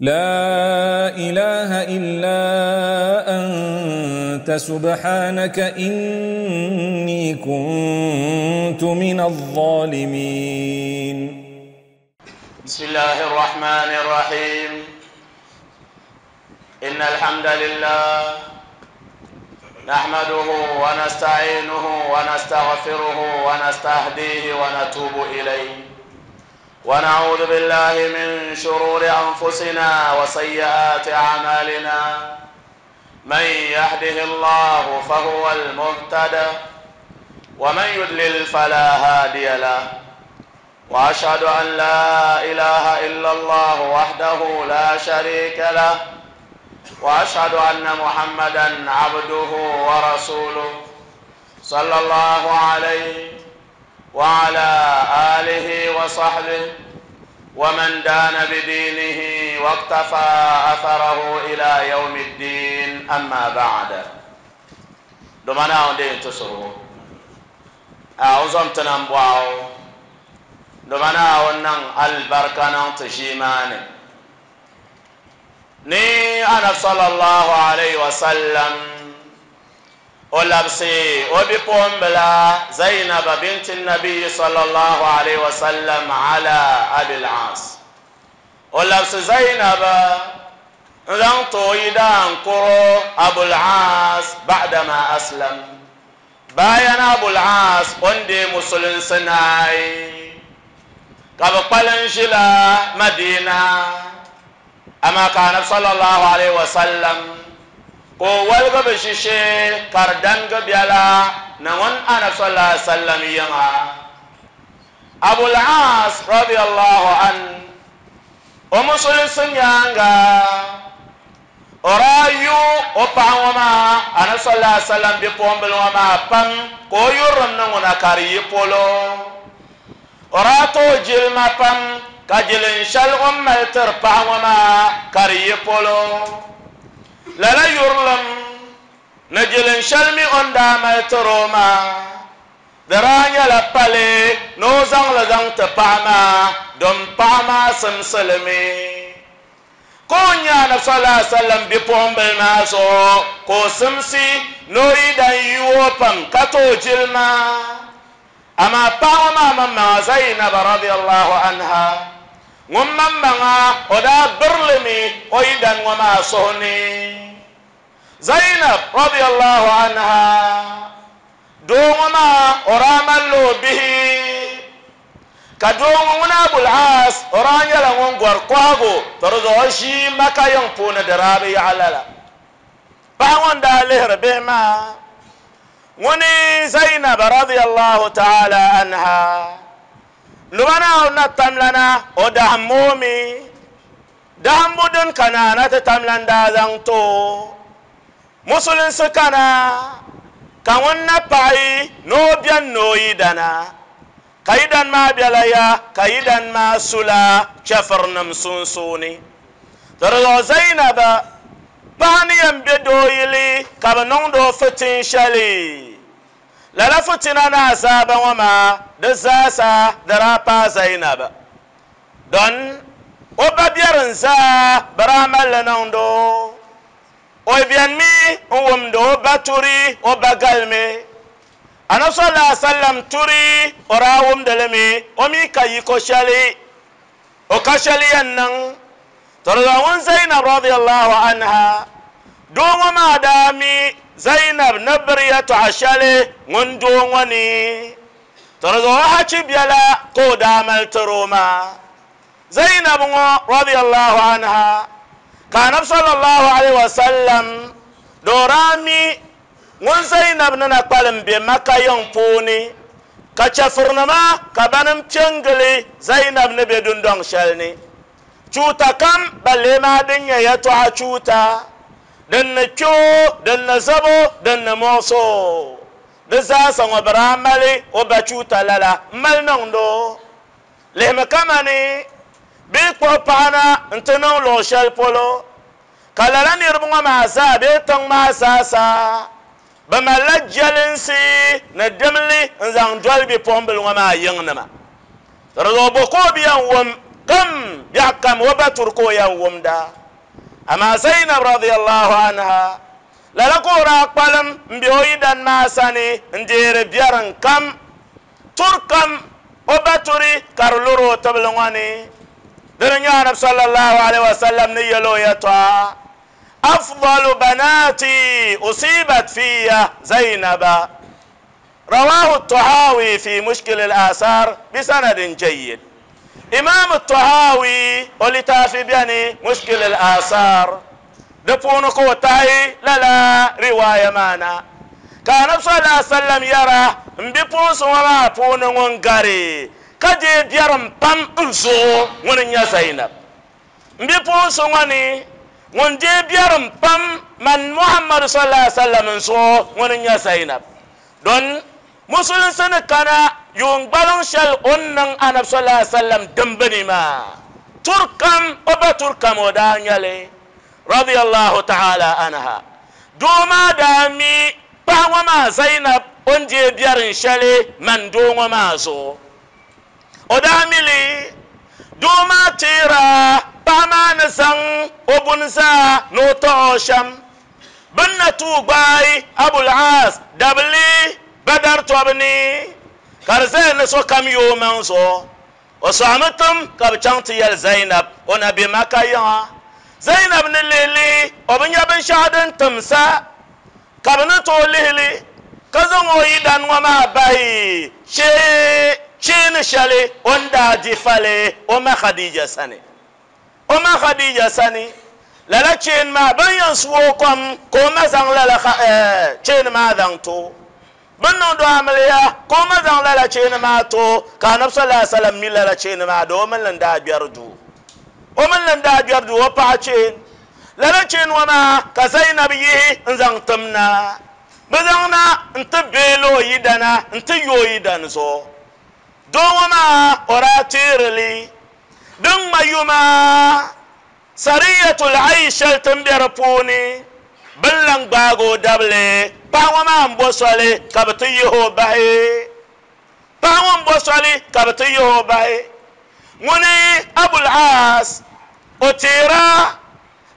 لا إله إلا أنت سبحانك إني كنت من الظالمين. بسم الله الرحمن الرحيم. إن الحمد لله نحمده ونستعينه ونستغفره ونستهديه ونتوب إليه، ونعوذ بالله من شرور أنفسنا وسيئات أعمالنا. من يهده الله فهو المهتد، ومن يضلل فلا هادي له، وأشهد أن لا إله إلا الله وحده لا شريك له، وأشهد أن محمدا عبده ورسوله صلى الله عليه وعلى آله وصحبه ومن دان بدينه واقتفى أثره إلى يوم الدين. أما بعد، دمنا عندي تصرو أعوذ تنبواو دمنا ونن البركة نتشيماني ni ana sallallahu alayhi wa sallam o labsi o bipuɣimbila Zainab binti nabi sallallahu alayhi wa sallam ala Abil As. O labsi Zainab n zaŋ ti o yidaankuro Abul As ba'dama aslam. Bayan Abul As o ni deei musulinsi naai ka bi kpalim ʒila Madina. Amaa ka anabi sallallahu alayhi wa sallam ka o waligi bi ʒishee ka di dangi biɛla ni ŋun anabi sallallahu alayhi wa sallam yiŋa. Abul As radiyallahu an o musulinsi nyaaŋa o daa yu o paɣa ŋɔ maa anabi sallallahu alayhi wa sallam bipuɣimbili ŋɔ maa pam ka o yurilim ni ŋuna ka di yi polo. O daa tooi jilima pam ka jilin shɛli o ni mali tiri paɣa ŋɔ maa ka di yi polo. Lala yurilim ni jilin shɛli mi o ni daa mali tiri o maa di daa nyɛla pali ni o zaŋli zaŋ ti paɣa maa din paɣa maa simsilimi. Ka o nya Anabi sallallahu alaihi wasallam bipuɣimbili maa zuɣu ka o simsi ni o yi dan yu o pam ka tooi jilima. Amaa paɣa ŋɔ maa maŋmaŋa Zainab radiyallahu anha ŋun maŋmaŋa o daa birilimi o yidan ŋɔ maa suhu ni. Zainab radiyallahu anha doo ŋɔ maa o daa malila o bihi, ka doo ŋɔ ŋun Abul As o daa nyɛla ŋun gɔri kɔhigu to di zuɣu o ʒii Maka yiŋ puuni di daa bi yaɣi lala. Paɣa ŋɔ n-daa lihiri bihi maa ŋuni Zainab radiyallahu ta'ala anha luba Naawuni na tamlana o dahimmo mi dahimbu din ka naana ti tamlan daa zaŋ ti o musulinsi kana ka ŋun na paɣi ni o beni ni o yidana ka yidan maa bela ya ka yidan maa sula chɛfirinim sunsuuni. Di zuɣu Zainab paɣa ni yɛn be dooyili ka bɛ niŋdi o fitin shɛli. Lala fitina ni azaaba ŋɔ maa di zaasa di daa paai Zainab. Don o ba biɛri n-zaa bɛ daa mali li niŋdi o. O benimi n-wumdi o ba turi o ba galimi. Anabi sallallahu alaihi wasallam turi o daa wumdi li mi, o mi ka yiko shɛli, o ka shɛli yɛn niŋ. To di zuɣu ŋun Zainab radiyallahu anha doo ŋɔ maa daa mi Zainab ni biri yɛtɔɣa shɛli ŋun doo ŋɔ ni. To di zuɣu o hachi biɛla ka o daa mali tiri o maa. Zainab ŋɔ radiyallahu anha ka Anabi sallallahu alaihi wasallam doo daa mi ŋun Zainab ni na kpalim be Makka yiŋ puuni ka chɛfurinima ka banim kpe n-gili Zainab ni be dundɔŋ shɛli ni. Chuuta kam balle maa din nyɛ yɛtɔɣa chuuta, din ni kpe o, din ni zab o, din ni muɣis o, di zaasa ŋɔ bɛ daa mali o ba chuuta lala m-mali niŋd o. Lihimi kamani bɛ yi kpuɣi paɣa na nti niŋ luɣ shɛli polo, ka lala niriba ŋɔ maa zaa bee tiŋ maa zaasa bɛ malila jɛlinsi ni dimli n-zaŋ doli bipuɣimbila ŋɔ maa yiŋnima. Di zuɣu bɔ ka o bi yɛn wum kam biɛɣu kam o ba turi ka o yɛn wumda. Amaa Zainab radiyallahu anha lala ka o daa kpalim m-be o yidan maa sani n-deeri biɛrim kam, turi kam o ba turi ka di luri o tibili ŋɔ ni. Dini n-nyɛ Anabi sallallahu alaihi wasallam ni yɛli o yɛtɔɣa, Afdalu banati usibat fiya Zainaba. Rawahu Tahawi fi Mushkil al-Asar bisanadin jayyid. Imam Tahawi o litaafi beni Mushkil al-Asar di puuni ka o tahi lala riwaaya maa na ka Anabi sallallahu alaihi wasallam yɛra, M bipuɣinsi ŋɔ maa puuni ŋun gari ka deei biɛrim pam n zuɣu ŋuni n-nyɛ Zainab. M bipuɣinsi ŋɔ ni, ŋun deei biɛrim pam man Muhammadu sallallahu alaihi wasallam n zuɣu ŋuni n-nyɛ Zainab. Don Musulinsi ni kana yuun gbaliŋ shɛli o ni niŋ Anabi sallallahu alaihi wasallam dimbi ni maa, turi kam o ba turi kam o daa nya li, radiyallahu ta'ala anha. Doo maa daa mi paɣa ŋɔ maa Zainab o ni deei biɛrim shɛli man doo ŋɔ maa zuɣu. O daa mi li, doo maa teera paɣa maa ni zaŋ o buni zaa ni o tɔɣ o shɛm. Bɛ ni na tuui gbaai Abul Aas dabili Badar tɔbu ni, ka di zaya ni sokam yo o maŋ zuɣu. O sɔɣimi tim ka bɛ chaŋ ti yɛli Zainab o na be Maka yiŋa. Zainab ni lihi lihi o bi nya binshɛɣu din timsa. Ka bɛ ni tooi lihi li ka zaŋ o yidan ŋɔ maa bahi cheeni shɛli o ni daa di fali o ma Khadija sani. O ma Khadija sani, lala cheeni maa bɛ ni yɛn su o kom ka o ma zaŋ lala cheeni maa zaŋ ti o. Bɛ ni niŋdi o amiliya ka o ma zaŋ lala cheeni maa ti o, ka Anabi sallallahu alaihi wasallam mi lala cheeni maa di o mini li n-daa gbɛri duu. O mini li n-daa gbɛri duu o paɣa cheeni. Lala cheeni ŋɔ maa ka Zainab yihi n-zaŋ tim na. Bɛ zaŋ na nti beeli o yidana nti yo o yidan zuɣu. Doo ŋɔ maa o daa teeri li. Din ŋma yuma Sariyatul Aish shɛli ti ni be di puuni, bɛ ni lan gbaagi o dabili paɣa ŋɔ maa m-bo soli ka bɛ ti yihi o bahi. Paɣa ŋɔ m-bo soli ka bɛ ti yihi o bahi. Ŋuni Abul Aas, o teera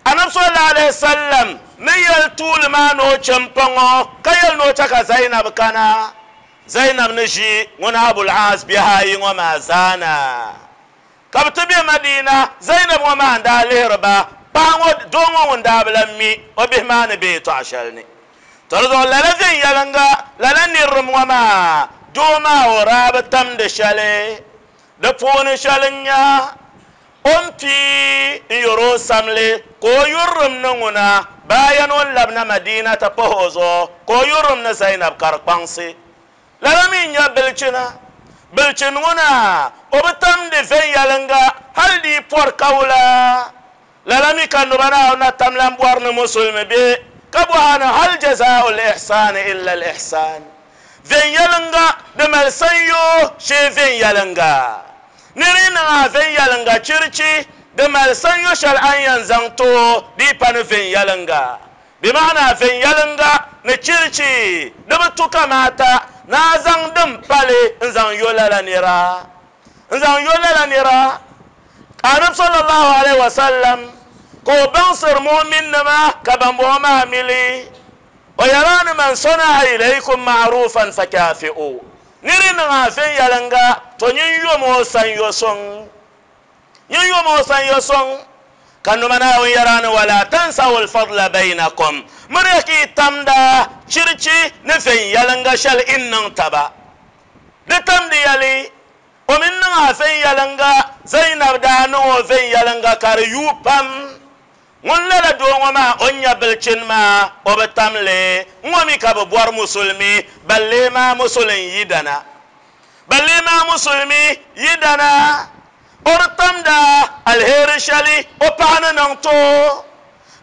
Anabi sallallahu alaihi wasallam ni yɛli tuuli maa ni o chɛ m-paŋ o ka yɛli ni o chɛ ka Zainab kana. Zainab ni ʒi ŋuni Abul Aas bihi ayi ŋɔ maa zaa na. Ka bɛ ti be Madina, Zainab ŋɔ maa n-daa lihiri ba, paɣa ŋɔ, doo ŋɔ ŋun daa bi lan mi o bihi maa ni be yɛtɔɣ shɛli ni. Tɔ di zuɣu lala viɛnyɛliŋga, lala nirilim ŋɔ maa, doo maa o daa bi tamdi shɛli. Di puuni shɛli n-nya o ni pii n-yɔr o samli ka o yurilim ni ŋuna bayan o ni labina Madina ti pahi o zuɣu ka o yurilim ni Zainab ka di kpaŋsi. Lala mi n-nyɛ bilichina. Bilichin ŋuna o bi tamdi viɛnyɛliŋga hali di yi pɔri kawula. Lala mi ka noba Naawuni na tam lan bɔri ni musulimi be ka bɔha ni hal jazaa'ul ihsaani illa al-ihsaan. Viɛnyɛliŋga di mali sanyoo shee viɛnyɛliŋga. Nir yi niŋ a viɛnyɛliŋga chirichi, di mali sanyo shɛli a ni yɛn zaŋ ti o di yi pa ni viɛnyɛliŋga. Bɛ maana viɛnyɛliŋga ni chirichi di bi tu kamaata ni a zaŋ din pali n-zaŋ yo lala nira. N-zaŋ yo lala nira. Ka Anabi sallallahu alaihi wasallam ka o baŋsiri mu'minnima ka bambɔŋɔ maa mi li. O yɛla ni man sana'a ilaykum ma'rufan fakafi'u. Nir yi niŋ a viɛnyɛliŋga, to nyin yom o sanyo suŋ. Nyin yom o sanyo suŋ. Ka noma Naawuni yɛra ni wala tansawul fadla baynakum, miriya ka yi tamda chirichi ni viɛnyɛliŋga shɛli in niŋ taba. Di tamdi ya li. O mi niŋ a viɛnyɛliŋga, Zainab daa niŋ o viɛnyɛliŋga ka di yuui pam. Ŋun lala doo ŋɔ maa o ni nya bilichini maa o bi tam li. Ŋ-ŋɔ mi ka bɛ bɔri musulimi ban lee maa musulin yidana. Ban lee maa musulimi yidana. O di tamda aliheri shɛli o paɣa ni niŋ ti o.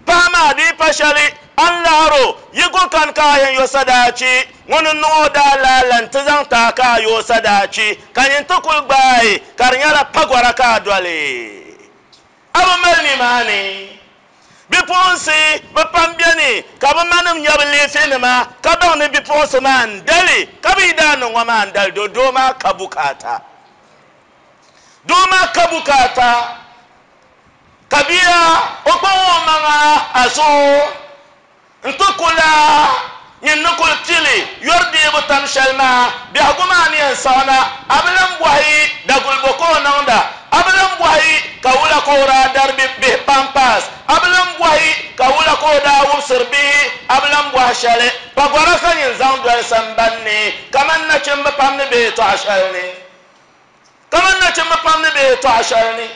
Paɣa maa di pa shɛli a ni lahir o, yi ku kani ka a yɛn yo sadaachi, ŋuni n-niŋ o daalaala nti zaŋ ti a ka a yo o sadaachi, ka nyin ti kul gbaai ka di nyɛla pagɔra ka a doli. A bi mali nimaani. Bipuɣinsi bi pam beni ka bɛ manim nya bɛ leefinima ka baŋ ni bipuɣinsi maa n-dali, ka bɛ yi daa niŋ ŋɔ maa n-dali do doo maa ka bukaata. Doo maa ka bukaata ka bia o kpaŋ o maŋa a zuɣu n-ti ku la nyin ni kul pili yɔri deebu tam shɛli maa, biɛhigu maa ni yɛn saɣi na, a bi lan bɔhi daguli bɔ ka o niŋda, a bi lan bɔhi ka wula ka o daa dari bihi pampers, a bi lan bɔhi ka wula ka o daa wubisiri bihi, a bi lan bɔhi shɛli. Pagɔra ka nyin zaŋ doli samban ni kaman nachimba pam ni be yɛtɔɣa shɛli ni. Kaman nachimba pam ni be yɛtɔɣa shɛli ni,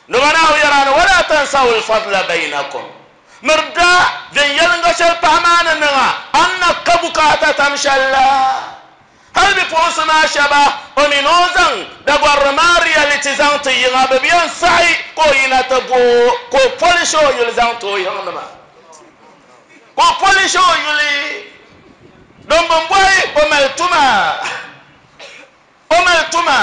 Noba Naawuni yɛra ni, Wala tansawul fadla bayinakum, miri da viɛnyɛliŋga shɛli paɣa maa ni niŋ a, a ni na ka bukaata tam shɛli la. Hali bipuɣinsi maa shɛba, o mi ni o zaŋ dagɔrili maa reality zaŋ ti yiŋa, bɛ bi yɛn saɣi ka o yina ti bo o, ka o polish o yuli zaŋ ti o yiŋnima. Ka o polish o yuli, din bi bɔhi o mali tuma. O mali tuma,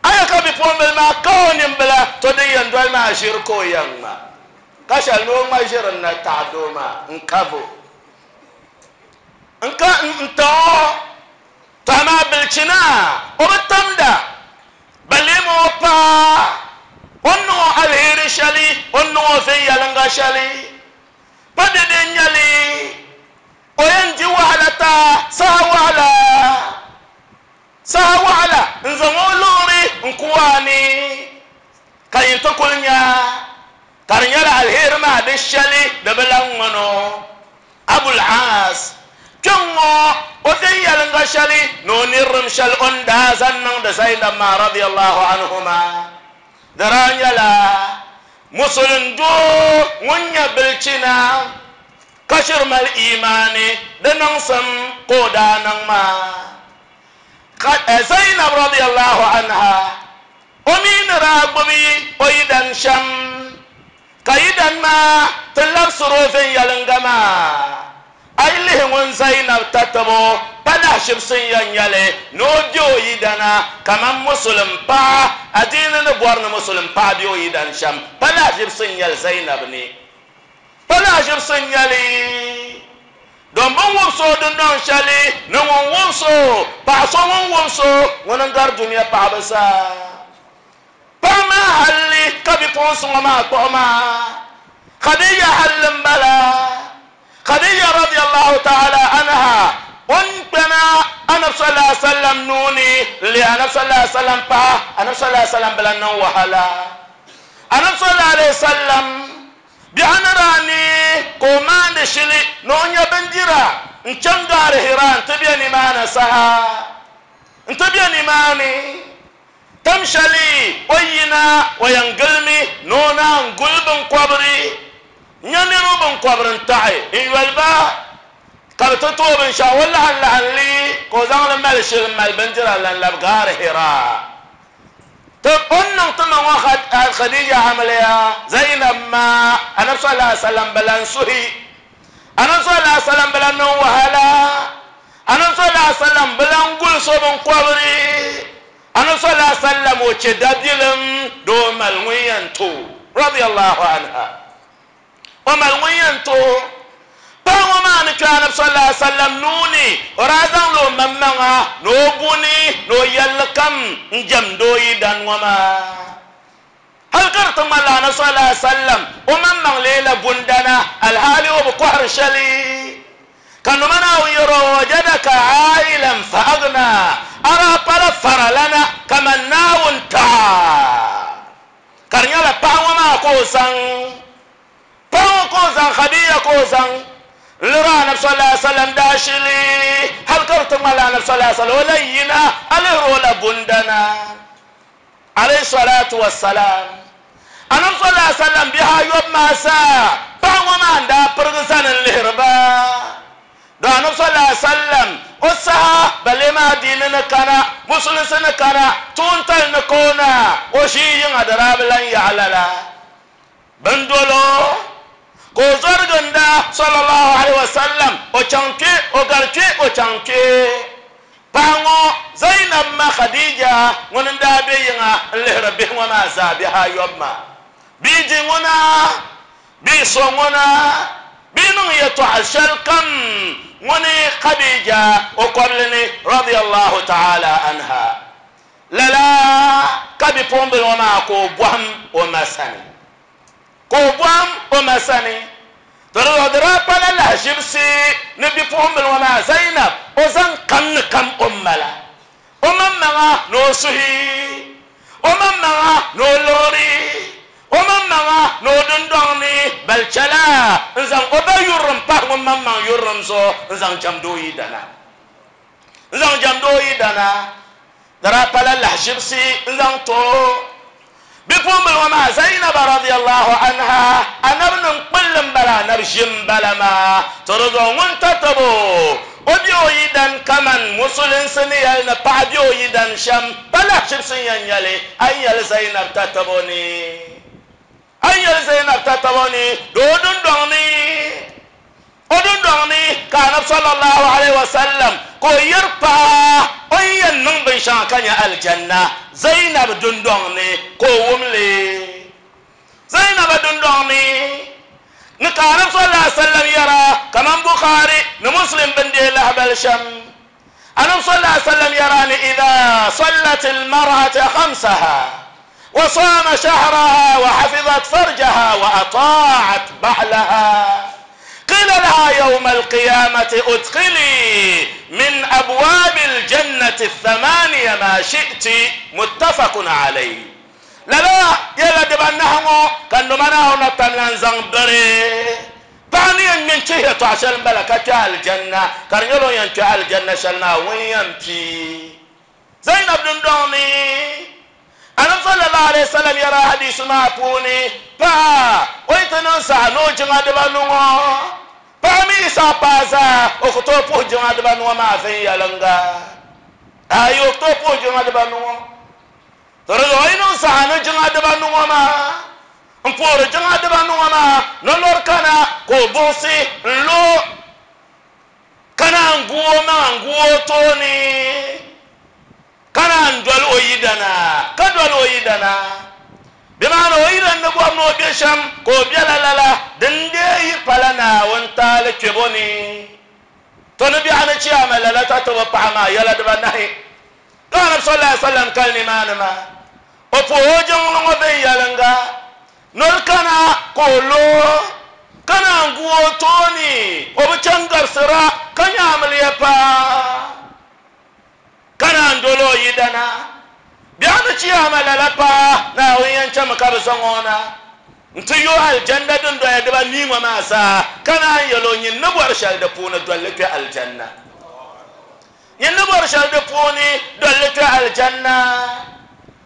a ya ka bipuɣimbila maa ka o nimbila, to din yɛn doli maa ʒiri ka o yɛn ŋma, ka shɛli ni o ŋma ʒiri n-na taɣi doo maa n-kabo n-ka n-taɣ o. To amaa bilichina o bi tamda, balema o paai o ni niŋ o aliheri shɛli, o ni niŋ o viɛnyɛliŋga shɛli, pa dɛde n-nyɛ li. O yɛn di wahala ta saha waɣila, saha waɣila n-zaŋ o liɣiri n-ku a ni, ka yin ti kuli nya ka di nyɛla aliheri maa di shɛli di bi lan ŋmani o. Abul Aas, kpɛŋŋo o viɛnyɛliŋga shɛli ni o nirilim shɛli o ni daa zaŋ niŋdi Zainab maa radiyallahu anhuma di daa nyɛla Musulin doo ŋun nyɛ bilichina. Ka shiri mali imaani di niŋsim ka o daa niŋ maa. Ka Zainab radiyallahu anha o mi ni daa gbubi o yidan shɛm, ka yidan maa ti labisiri o viɛnyɛliŋga maa. A yi lihi ŋun Zainab tatabo pa lahashibsi n-yɛn nyɛ li ni o be o yidana kaman Musulim paɣa, adiini ni bɔri ni Musulim paɣa be o yidan shɛm, pa lahashibsi n-nyɛ li Zainab ni. Pa lahiʒibisi n-nyɛ li, don bɛ ni wumsi o dundɔŋ shɛli ni ŋun wums o, paɣ so ŋun wums o, ŋuni n-gari dunia paɣiba zaa. Paɣ maa halli ka bipuɣinsi ŋɔ maa kpuɣi maa, Khadija halli m-bala. Khadija radiyallahu ta'ala anha, o ni kpɛna Anabi sallallahu alaihi wasallam nuu ni n-leei Anabi sallallahu alaihi wasallam paɣa, Anabi sallallahu alaihi wasallam bi lan niŋ wahala. Anabi sallallahu alaihi wasallam Biɛɣu ni daa neei ka o maandi shili ni o nya bindira n-chaŋ gaari Hira nti be nimaani saha. Nti be nimaani tam shɛli o yi yina o yɛn gilimi ni o naan guli biŋkɔbiri nya niriba biŋkɔbiri n-taɣi n-yoli ba ka bɛ ti tooi binshɛɣu o laɣim laɣim li ka o zaŋ li mali shili m-mali bindira lan labi gaari Hira. To o ni niŋ ti ma ŋɔ Khadija amiliya Zainab ma Anabi sallallahu alaihi wasallam bi lan suhi Anabi sallallahu alaihi wasallam bi lan niŋ wahala Anabi sallallahu alaihi wasallam bi lan guli so binkɔbiri Anabi sallallahu alaihi wasallam o che dabilim di o mali ŋun yɛn to radiyallahu anha. O mali ŋun yɛn ti o paɣa ŋɔ maa ni kpe Anabi sallallahu alaihi wasallam nuu ni, o daa zaŋla o maŋmaŋa ni o buni ni o yɛlli kam n-jɛmdi o yidan ŋɔ maa. Hali ka di ti ŋmanila Anabi sallallahu alaihi wasallam o maŋmaŋ leela bundana, alhaali o bi kɔhiri shɛli. Ka noma Naawuni yɛr o, Wajadaka aa'ilan fa aghnaa, a daa pala faralana kaman Naawuni taɣa. Ka di nyɛla paɣa ŋɔ maa ka o zaŋ, paɣa ŋɔ ka o zaŋ, Khadija ka o zaŋ n-liri Anabi sallallahu alaihi wasallam daashili hali ka di ti ŋmanila Anabi sallallahu alaihi wasallam o lahi yina a lihiri o la bundana alayhi salatu wassalam. Anabi sallallahu alaihi wasallam bihi ayɔbu maa zaa paɣa ŋɔ maa n-daa pirigi zani n-lihiri ba. Don Anabi sallallahu alaihi wasallam o saha balee maa diini ni kana, musulinsi ni kana, tuuntali ni ka o na, o ʒii yiŋa di daa bi lan yaɣi lala. Bɛn dol o ka o zɔri ginda sallallahu alaihi wasallam, o chaŋ kpe, o gari kpe, o chaŋ kpe. Paɣa ŋɔ Zainab ma Khadija ŋuni n-daa be yiŋa n-lihiri bihi ŋɔ maa zaa bihi ayɔbu maa. Bia di ŋuna. Bɛ so ŋuna bɛ niŋ yɛtɔɣa shɛli kam ŋuni Khadija o kɔbili ni radiyallahu ta'ala anha. Lala ka bipuɣimbila ŋɔ maa ka o bɔhim o ma sani. Ka o bɔhim o ma sani. To di zuɣu di daa pala lahiʒibisi ni bipuɣimbila ŋɔ maa Zainab o zaŋ kam ni kam o ni mala o maŋmaŋa ni o suhi, o maŋmaŋa ni o liɣiri, o maŋmaŋa ni o dundɔŋ ni bali chɛla n-zaŋ o ba yurilim pahi ŋun maŋmaŋ yurilim zuɣu n-zaŋ jɛmdi o yidana. N-zaŋ jɛmdi o yidana. Di daa pala lahiʒibisi n-zaŋ ti o. Bipuɣimbila ŋɔ maa Zainaba radiyallahu anha, Anabi nim kpulli m-bala, Anabi ʒi m-bala maa. To di zuɣu ŋun tatabo o be o yidan kaman Musulinsi ni yɛli ni paɣa be o yidan shɛm, pa lahiʒibisi n-yɛn nyɛ li, a yi yɛli Zainab tatabo ni, a yi yɛli Zainab tatabo ni di o dundɔŋ ni. O dundɔŋ ni ka Anabi sallallahu alaihi wasallam ka o yɛri paɣa o ni yɛn niŋ binshɛŋa ka nya alijanna Zainab dundɔŋ ni ka o wum li. Zainaba dundɔŋ ni ni ka Anabi sallallahu alaihi wasallam yɛra kaman Bukhari ni Muslim bɛn deei lahibali shɛm. Anabi sallallahu alaihi wasallam yɛra ni idha sallat al-mar'atu khamsaha wa sama shahraha wa hafizat farjaha wa ata'at ba'laha qila laha yawma al-qiyamati udkhili min abwab al-jannati ath-thamaniya ma shi'ti muttafaqun alayhi. Lala yɛla dibanahi ŋɔ ka n Duuma Naawuni na tam lan zaŋ biri paɣa ni yɛn ŋme n-chihi yɛtɔɣa shɛli m-bala ka kpe alijanna, ka di nyɛla o ni yɛn kpe alijanna shɛli maa ŋun yɛn pii Zainab dundɔŋ ni. Anabi sallallahu alaihi wasallam yɛra hadiisi maa puuni, paɣa o yi ti niŋ saha ni o jiŋa dibanu ŋɔ, paɣa mi yi saɣi paai zaa o ku tooi puhi jiŋa dibanu ŋɔ maa viɛnyɛliŋga. Ayi, o ku tooi puhi jiŋa dibanu ŋɔ. To di zuɣu yi niŋ saha ni jiŋa dibanu ŋɔ maa m-puhiri jiŋa dibanu ŋɔ maa ni lɔri kana ka o buɣisi n-lo ka naan gu o maŋa n-gu o tooni ka naan doli o yidana ka doli o yidana. Bɛ maana o yidan ni bɔri ni o be shɛm ka o bela lala, din dee yi pala Naawuni taali kpɛbo ni. To ni biɛɣu ni chiyaama lala tatabo paɣa maa yɛla dibanahi. Ka Anabi sallallahu alaihi wasallam kali nimaani maa, o puhi o jiŋli ŋɔ viɛnyɛliŋga, noli kana ka o lo, ka naan gu o tooni, o bi chaŋ gabisira ka nya amiliya paa, ka naan doli o yidana. Biɛɣu ni chiyaama lala paa, Naawuni yɛn chami ka bɛ zaŋ o na nti yo alijanna dundoya dibanii ŋɔ maa zaa, ka naan yɛl o, Nyin ni bɔri shɛli di puuni dolli kpe alijanna. Nyin ni bɔri shɛli di puuni, doli li kpe Aljanna.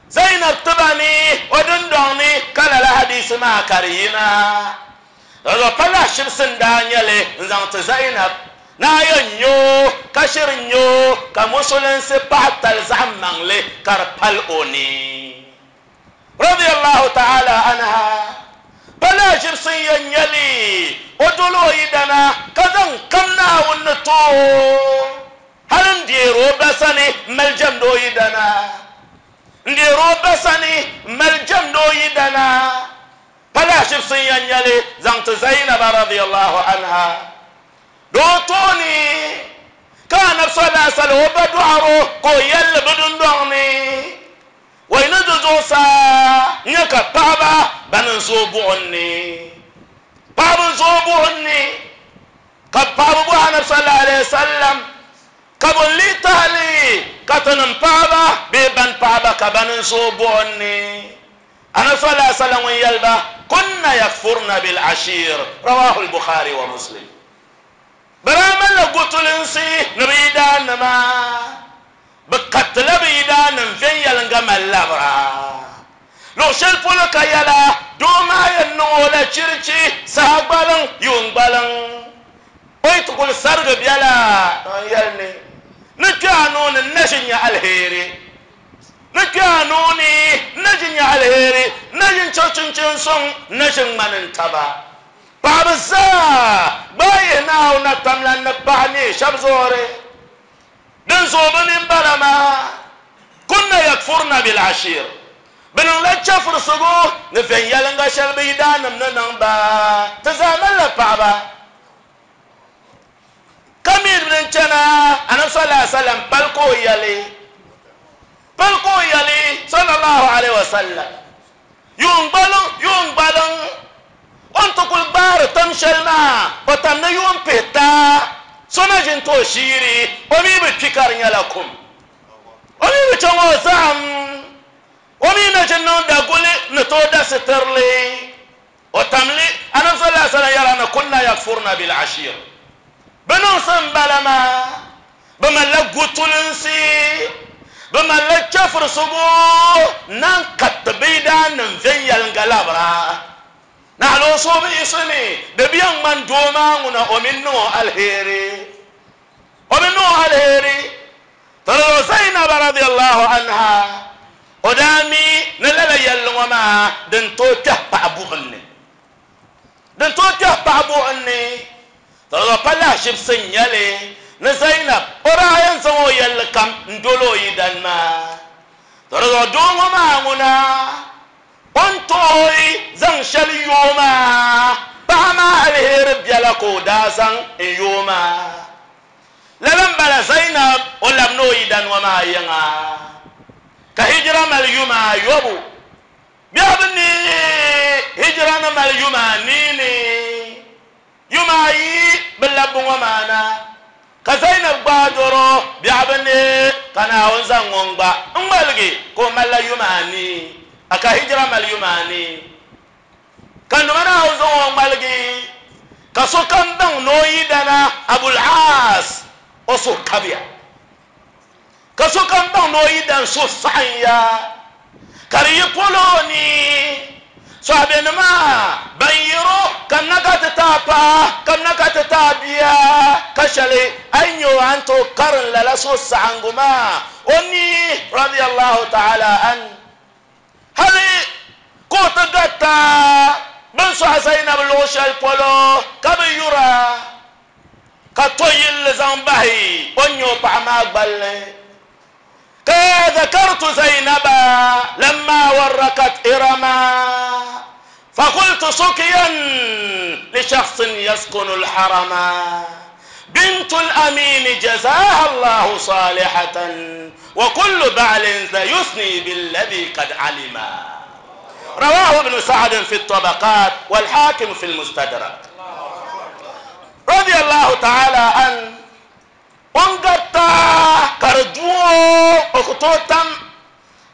Zainab tiba ni o dindɔŋ ni ka lala hadiisi maa ka di yina. Lala pa lahi shibisi n-daa nyɛ li n-zaŋ ti Zainab. Naa yɛn nya o ka shiri nya o ka Musulinsi paɣa tali zaɣ maŋli ka di pali o ni. Radiyallahu ta'ala anha, pa lahiʒibisi n-yɛn nyɛ li o doli o yidana ka zaŋ kam Naawuni ni ti o hali n-deeri o ba sani m-mali jɛmdi o yidana, n-deeri o ba sani m-mali jɛmdi o yidana, pa lahiʒibisi n-yɛn nyɛ li zaŋ ti Zainaba radiyallahu anha di o tooni ka Anabi sallallahu alaihi wasallam o ba dɔɣiri o ka o yɛlli bɛ dundɔŋ ni. Wai ni di zuɣusaa n-nyɛ ka paɣiba ban n-zooi buɣim ni. Paɣiba n-zooi buɣim ni, ka paɣiba bɔhi Anabi sallallahu alaihi wasallam, Ka bɔ n-lee tahi li ka tinim paɣiba bee ban paɣiba ka ban n-zooi buɣim ni? Anabi sallallahu alaihi wasallam ŋun yɛli ba, Kunna yakfurna bil ashir, Rawahu al-Bukhari wa Muslim. Bɛ daa malila gutulinsi ni bɛ yidaannima. Bɛ karitila bɛ yidaannim viɛnyɛliŋga mali labira. Luɣ shɛli polo ka yɛla, doo maa yɛn niŋ o la chirichi saha gbaliŋ, yuun gbaliŋ. O yi ti kul sarigi biɛla, n yɛli ni, Ni kpe a nuu ni n na ʒi nya aliheri. Ni kpe a nuu ni n na ʒi nya aliheri, n na ʒi n-chaŋ chinchin suŋ, n na ʒi ŋ-ŋmani n taba. Paɣiba zaa gbaai yihi Naawuni na tamla ni paɣ neei shɛb zuɣuri. Din zuɣu bɛ mini bala maa, kunna yakfurna bil ashir, bɛ niŋla chɛfurisigu ni viɛnyɛliŋga shɛli bɛ yidaannim ni niŋ ba, ti zaa malila paɣaba ka mi din chana, Anabi sallallahu alaihi wasallam pali ka o yɛli, pali ka o yɛli. Sallallahu alaihi wasallam yuun gbaliŋ yuun gbaliŋ o ni ti kuli gbaari tam shɛli maa o tam ni yuun pihita so na ʒini ti o shiiri o mi bi kpi ka di nyɛla kum o mi bi chaŋ o zahim o mi na ʒini niŋ daguli ni tooi da sitirili o tamli anabi sallallahu alaihi wasallam yɛra ni kunna yakfurna bil ashir bi niŋsim bala maa bi malila gutulinsi bi malila chɛfurisigu nan kariti bi yidaanim viɛnyɛliŋga labira naɣila o suhu bi yiɣisi mi di bi yɛn ŋmani doo maa ŋuna o mi niŋ o aliheri o mi niŋ o aliheri tɔlɔ Zainab radiyallahu anha o daa mi ni lala yɛlli ŋɔ maa din tooi kpɛhi paɣa buɣim ni din tooi kpɛhi paɣa buɣim ni tɔlɔ pa lahaʒibisi n nyɛli ni Zainab o daa yɛn zaŋ o yɛlli kam n doli o yidan maa tɔlɔ doo ŋɔ maa ŋuna o ni tooi zaŋ shɛli yoo maa paɣa maa aliheri biɛla ka o daa zaŋ n yoo maa lala n bala Zainab o labi ni o yidan ŋɔ maa yiŋa ka hijira mali yuma ayobu biɛhi ni hijira ni mali yuma anii yuma ayi bi labbi ŋɔ maa na ka Zainab gbaai doro biɛhi ni ka Naawuni zaŋ ŋun gba n ŋmaligi ka o malila yuma anii a ka hijira mali yuma anii ka nima Naawuni zaŋ o ŋmaligi ka sokam baŋ ni o yidana Abul Aas o suhu kabiya ka sokam baŋ ni o yidan suhu saɣimya ka di yi polo ni sahabenima ban yiro kamina ka ti taa paɣa kamina ka ti taa bia ka shɛli a yi nyɛ o a ni tooi karim lala suhu saɣingu maa o ni radiyallahu ta'ala an hali ka o ti garita bin sɔɣi Zainab luɣu shɛli polo ka bi yura ka to yilli zaŋ bahi o ni nyɛ o paɣa maa gballi ka ذكرت زينب لما وركت إرما فقلت سكيا لشخص يسكن الحرم بنت الأمين جزاها الله صالحة وكل بعل يثني بالذي قد علم رواه ابن سعد في الطبقات والحاكم في المستدرك رضي الله تعالى عنه o garita ka di duo o ku tooi tam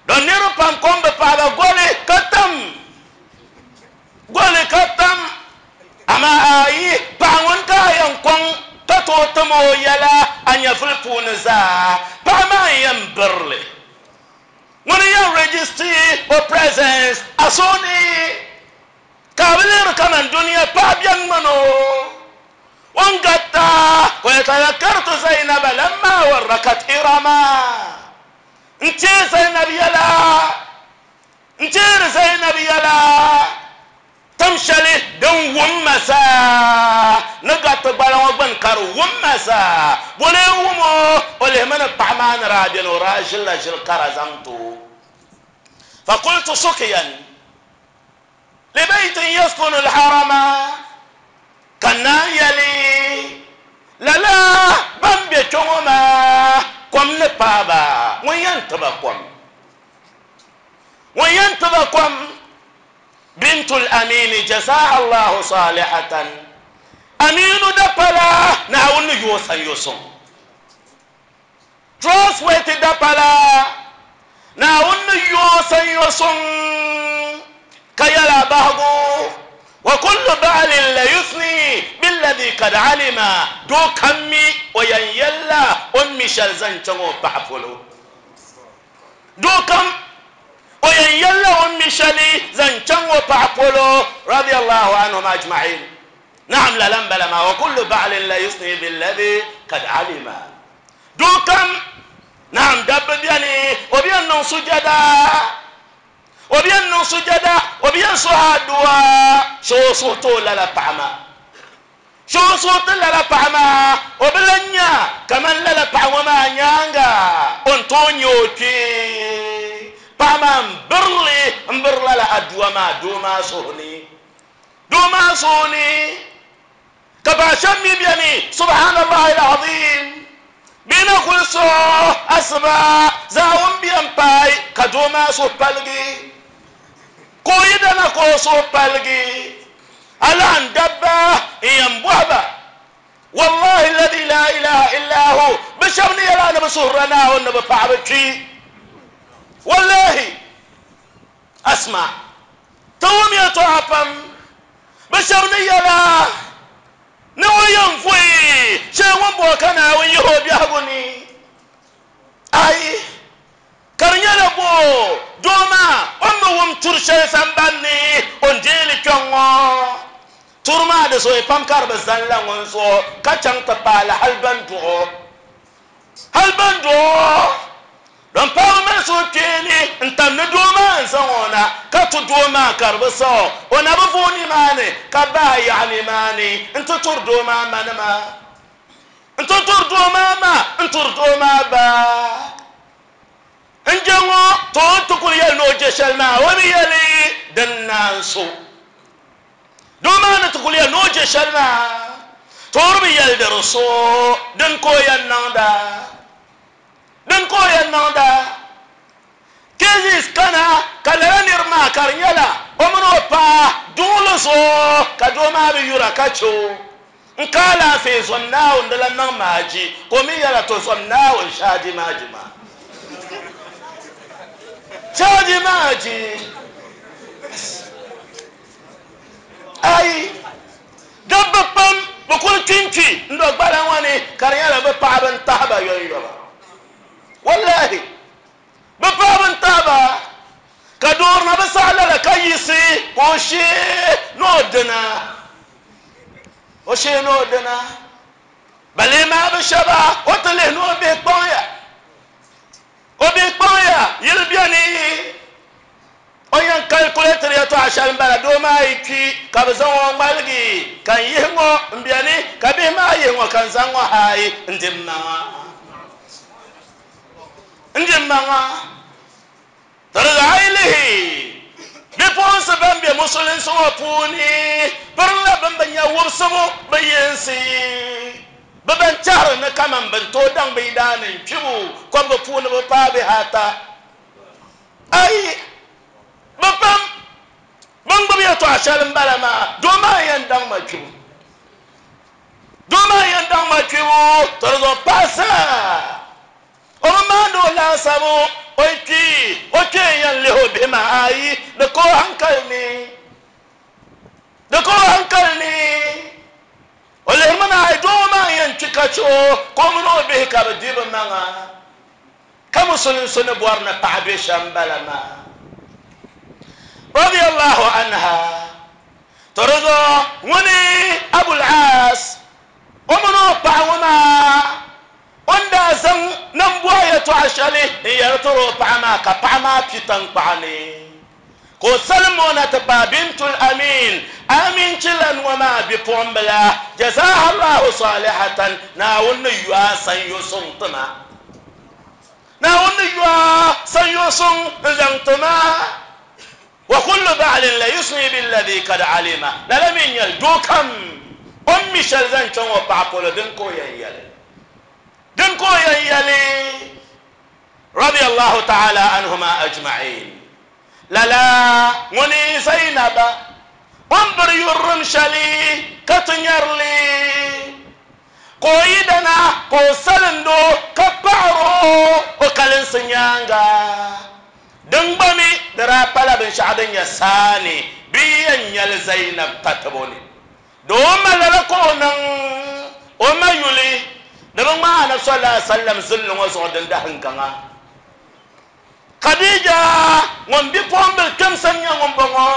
don niriba pam kom bi paɣaba goli ka tam goli ka tam amaa ayi paɣa ŋun ka a yɛn kɔŋ ka tooi tim o yɛla a nyɛvuli puuni zaa paɣa maa n yɛn birili ŋuni yɛn register o presence a suhu ni ka a bi lihiri kaman duniya paɣa biɛni ŋmani o وانقطع ويتذكرت زينب لما وركت إرما انت زينب يلا انت زينب يلا تمشلي دون ومسا نقط بلا وبن كر ومسا ولا ومو ولا من الطعمان رابين وراجل لاجل كرزمتو فقلت سقيا لبيت يسكن الحرم ka naan yɛli lala ban be kpɛ maa kom ni paaba ŋun yɛn tiba kom ŋun yɛn tiba kom bintul amini jazaha allahu salihatan aminu dapala naawuni ni yoo san yo suŋ trustworthy dapala naawuni ni yoo san yo suŋ ka yɛla bahagu وكل بعل لا يثني بالذي قد علم دو كمي وين يلا أمي شلزن تنو بعفلو دو كم وين يلا أمي شلي زن تنو بعفلو رضي الله عنهم أجمعين نعم لا لم بلما وكل بعل لا يثني بالذي قد علم دو كم نعم دب بياني وبيان سجدا o bi yɛn niŋ sujada o bi yɛn suhi aduwa so suhu ti o lala paɣa maa so suhu ti lala paɣa maa o bi lan nya kaman lala paɣa ŋɔ maa nyaanga o ni tooi nyɛ o kpee paɣa maa n birili n biri lala aduwa maa doo maa suhu ni doo maa suhu ni ka paɣa shɛba mi beni subhanallahi alazim Bɛ na kuli sɔɣi asiba zaawuni bɛn paai ka doo maa suhu paligi, ka o yidana ka o suhu paligi. A lahi dabba n-yɛn bɔhi ba, Wallahi alladhi la ilaha illa hu, bɛ shɛba ni yɛli a ni bɛ suhirila Naawuni ni bɛ paɣaba kpi. Wallahi! Asma, ti wum yɛtɔɣa pam bɛ shɛba ni yɛl a ni o yɛn vuhi shee ŋun bɔŋɔ ka Naawuni yihi o biɛhigu ni. Ayi, ka di nyɛla bo doo maa o ni bi wum turi shɛli sambani ni o ni deei li kpɛŋ ŋɔ. Turi maa di zooi pam ka di bi zani la ŋun zuɣu ka chaŋ ti paai li hali bɛn duɣ o. Hali bɛn duɣ o. Din paai mali suhukpeeni n-tam ni doo maa n-zaŋ o na, ka ti doo maa ka di bi saɣ o. O na bi vooi nimaani ka bahi yaɣi nimaani nti turi doo maa manima, nti turi doo maa ma, n-turi doo maa ba. N-je ŋɔ, to o ni ti kuli yɛli ni o je shɛli maa, o bi yɛli din naan so. Doo maa ni ti kuli yɛli ni o je shɛli maa, to o di bi yɛli di di so, din ka o yɛn niŋda. Din ka o yɛn niŋda? Cases kana ka lala niriba maa ka di nyɛla o mini o paɣa duɣili zuɣu ka doo maa bi yura ka che o n ka alaafee zom Naawuni di lan niŋ maaji ka o mi yɛla to zom Naawuni shaaji maaji maa shaaji maaji ayi Dabba pam bi kuli kpinkpi n-do gbala ŋɔ ni ka di nyɛla bɛ paɣiba n-tahi ba yɔnyɔba. Wallahi! Bɛ paɣiba n-tahi ba ka doori na bi saɣi lala ka yiɣisi ka o shee ni o dina. O shee ni o dina. Balee maa bi shɛba o ti lihi ni o bihi kpaŋya. O bihi kpaŋya yili beni. O yɛn kalkuletiri yɛtɔɣa shɛli m-bala, doo maa yi kpi ka bɛ zaŋ o ŋmaligi ka n yihi ŋɔ m-beni, ka bihi maa yihi ŋɔ ka n zaŋ ŋɔ haai n-di m maŋa. N-di m maŋa. Di zaɣ a yi lihi bipuɣinsi ban be musulinsi ŋɔ puuni pirinla bɛ ni bi nya wubisibu bɛ yinsi, bɛ ban tɛhiri ni kaman bɛ ni tooi daŋ bɛ yidaannim kpibu kɔbiga puuni bɛ paai bihi ata. Ayi, bɛ pam bɛn gbubi yɛtɔɣ shɛli m-bala maa, doo maa n-yɛn daŋ ma kpibu. Doo maa n-yɛn daŋ ma kpibu, to di zuɣu paɣa zaa o bi maandi o laasabu, o yi kpi, o kpee n-yɛn lihi o bihi maa. Ayi, di ka o haŋkali ni. Di ka o haŋkali ni. O lihirimi ni ayi, doo ŋɔ maa n-yɛn kpi ka chɛ o, ka o mini o bihi ka bɛ di bɛ maŋa. Ka musulinsi ni bɔri ni paɣa be shɛm bala maa. Radiyallahu anha. To di zuɣu ŋuni Abul Aas o mini o paɣa ŋɔ maa o ni daa zaŋ nambɔɣu yɛtɔɣa shɛli n-yɛli tiri o paɣa maa ka paɣa maa kpi taŋkpaɣu ni ka o salim o na ti paai Bintul Amin, Aminchilan ŋɔ maa bipuɣimbila, Jazahallahu salihatan, Naawuni ni yo a sanyo suŋ ti ma. Naawuni ni yo a sanyo suŋ n-zaŋ ti ma. Wa kullu ba'lin la yusni billadhi kad alima, lala mi n-nyɛli doo kam o ni mi shɛli zaŋ chaŋ o paɣa polo din ka o yɛn yɛli. Din ka o yɛn yɛli. Radiyallahu ta'ala anhuma ajma'in. Lala ŋuni Zainaba o ni biri yurilim shɛli ka ti nyari li, ka o yidana ka o salind o ka paɣir o o kalinsi nyaaŋa. Din gba mi di daa pala binshɛɣu din nyɛ saani bɛ yi yɛn nya li Zainab tatibo ni. Di o ma lala ka o niŋ o ma yuli ni bɛ ŋmaai Anabi sallallahu alaihi wasallam zilli ŋɔ zuɣu din dahim gaŋa. Khadija ŋun bipuɣimbil kpɛmsa n-nyɛ ŋun bɔŋɔ.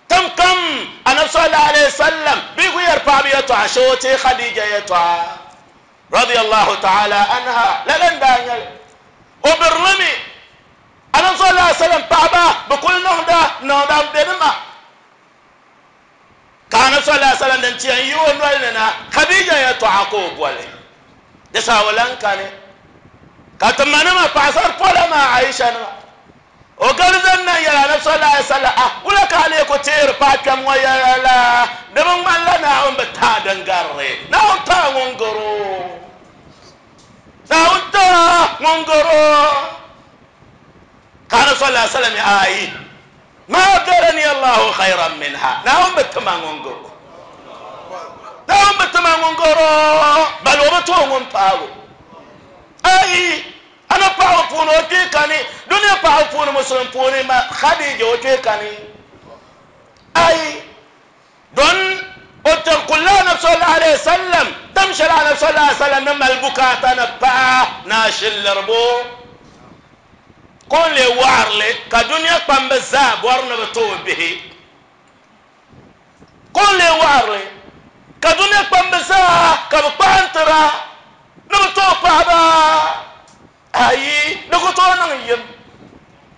Tiŋ kam Anabi sallallahu alaihi wasallam bɛ ku yɛri paɣaba yɛtɔɣa shee o teei Khadija yɛtɔɣa radiyallahu ta'ala anha. Lala n-daa nyɛ li. O birili mi Anabi sallallahu alaihi wasallam paɣaba bɛ kuli niŋda niŋda m-be ni maa. Ka Anabi sallallahu alaihi wasallam din ti yɛn yi o noli ni na, Khadija yɛtɔɣa ka o boli. Di saha o lan kani ka ti manima paɣasari pola maa Aisha nima. O gari zani na n-yɛli Anabi sallallahu alaihi wasallam, Ah, wula ka a lee ku teeri paɣa kpɛm ŋɔ yɛla la? Di bi ŋmanila Naawuni bi taai din gari li. Naawuni taai ŋun gari o. sallallahu alaihi wasallam ayi ma abdalani Allahu khayran minha. Naawuni bi tima ŋun garo, Naawuni bi tima ŋun garo, bal o bi tooi ŋun paagi o. Ayi, a ni paɣaba puuni o kpee kani, dunia paɣaba puuni musulim puuni ma Khadija o kpee kani. Ayi, don o tiri kulla Anabi sallallahu alaihi wasallam tam shɛli Anabi sallallahu alaihi wasallam ni mali bukaata ni paɣa ni a shiliribo ka o ni leei waɣirili ka dunia kpambi zaa bɔri ni bi ti o bihi, ka o ni leei waɣirili ka dunia kpambi zaa ka bi kpaantira ni bi ti o paɣaba. Ayi, di ku tooi niŋ yim.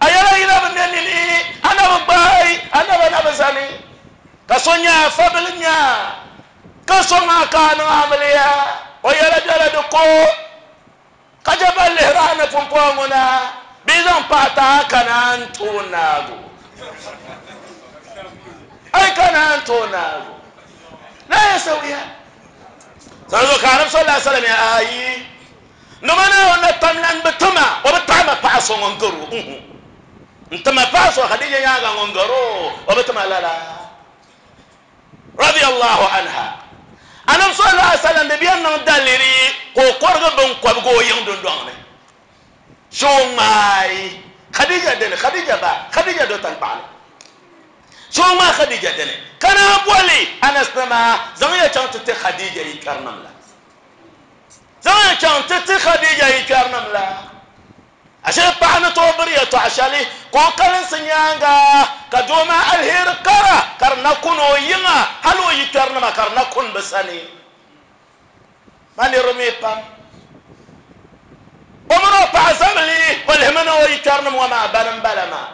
A yɛla yi na bi ne nini, a na bi gbaai, a naba na bi zani, ka so nya a fabili nya, ka sɔŋ a ka a niŋ amiliya, o yɛla bela di ko, ka chɛ ba lihiri a ni pumpɔŋɔ ŋɔ na, bɛ yi zaŋ paɣa ti a ka naan tooi naag o. A yi ka naan tooi naag o. La yasawiya. Sanzo ka Anabi sallallahu alaihi wasallam ya ayi. Nima Naawuni na tam lan bi ti ma, o bi taɣi ma paɣa so ŋun gar o, uhu. N-ti ma paɣa so Khadija nyaaŋa ŋun gar o, o bi ti ma lala. Radiyallahu anha. Anabi sallallahu alaihi wasallam di bɛn niŋ daliri ka o kɔrigi binkɔbigu o yiŋ dundɔŋ ni. Shee o ŋmaai Khadija dini, Khadija ba, Khadija do taŋkpaɣu ni. Shee o ŋmaai Khadija dini, ka naan boli Anas nima, zaŋ ya chaŋ ti ti Khadija yi kpɛrinim la. Zaŋ ya chaŋ ti ti Khadija yi kpɛrinim la. Ashe paɣa ni tooi biri yɛtɔɣ shɛli ka o kalinsi nyaaŋa, ka doo maa aliheri kara ka di na kun o yiŋa, hal o yi kpɛrinima ka di na kun bɛ sani. Ma niriba mi pam. O mini o paɣa zabili, o lihimi ni o yi kpɛrinim ŋɔ maa bani m-bala maa.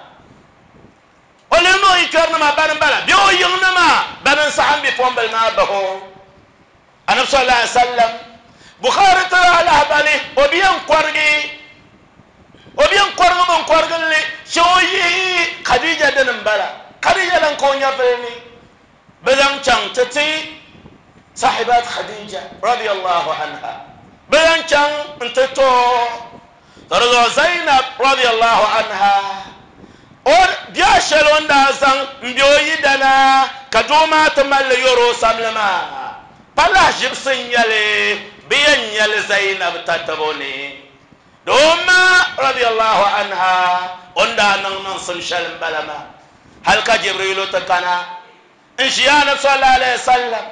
O lihimi o yi kpɛrinima bani m-bala bee o yiŋnima bani n-saɣim bipuɣimbila maa bahi o. Anabi sallallahu alaihi wasallam Bukhari tiri a lahabali o bi yɛn kɔrigi o bi yɛn kɔrigi bin kɔrigilli shee o yihi Khadija dini n bala Khadija lan ka o nyɛvili ni bi zaŋ chaŋ ti ti sahibat Khadija radiyallahu anha bi zaŋ chaŋ n ti to ka di zuɣu Zainab radiyallahu anha o biɛɣu shɛli o ni daa zaŋ n bɛ o yidana ka doo maa ti malli yɔri o samli maa pa lahiʒibisi n-nyɛli bɛ yɛn nyɛli Zainab tatabo ni doo maa radiyallahu anha o ni daa niŋ niŋsim shɛli m-bala maa hali ka Jibrilu ti kana n ʒi Anabi sallallahu alaihi wasallam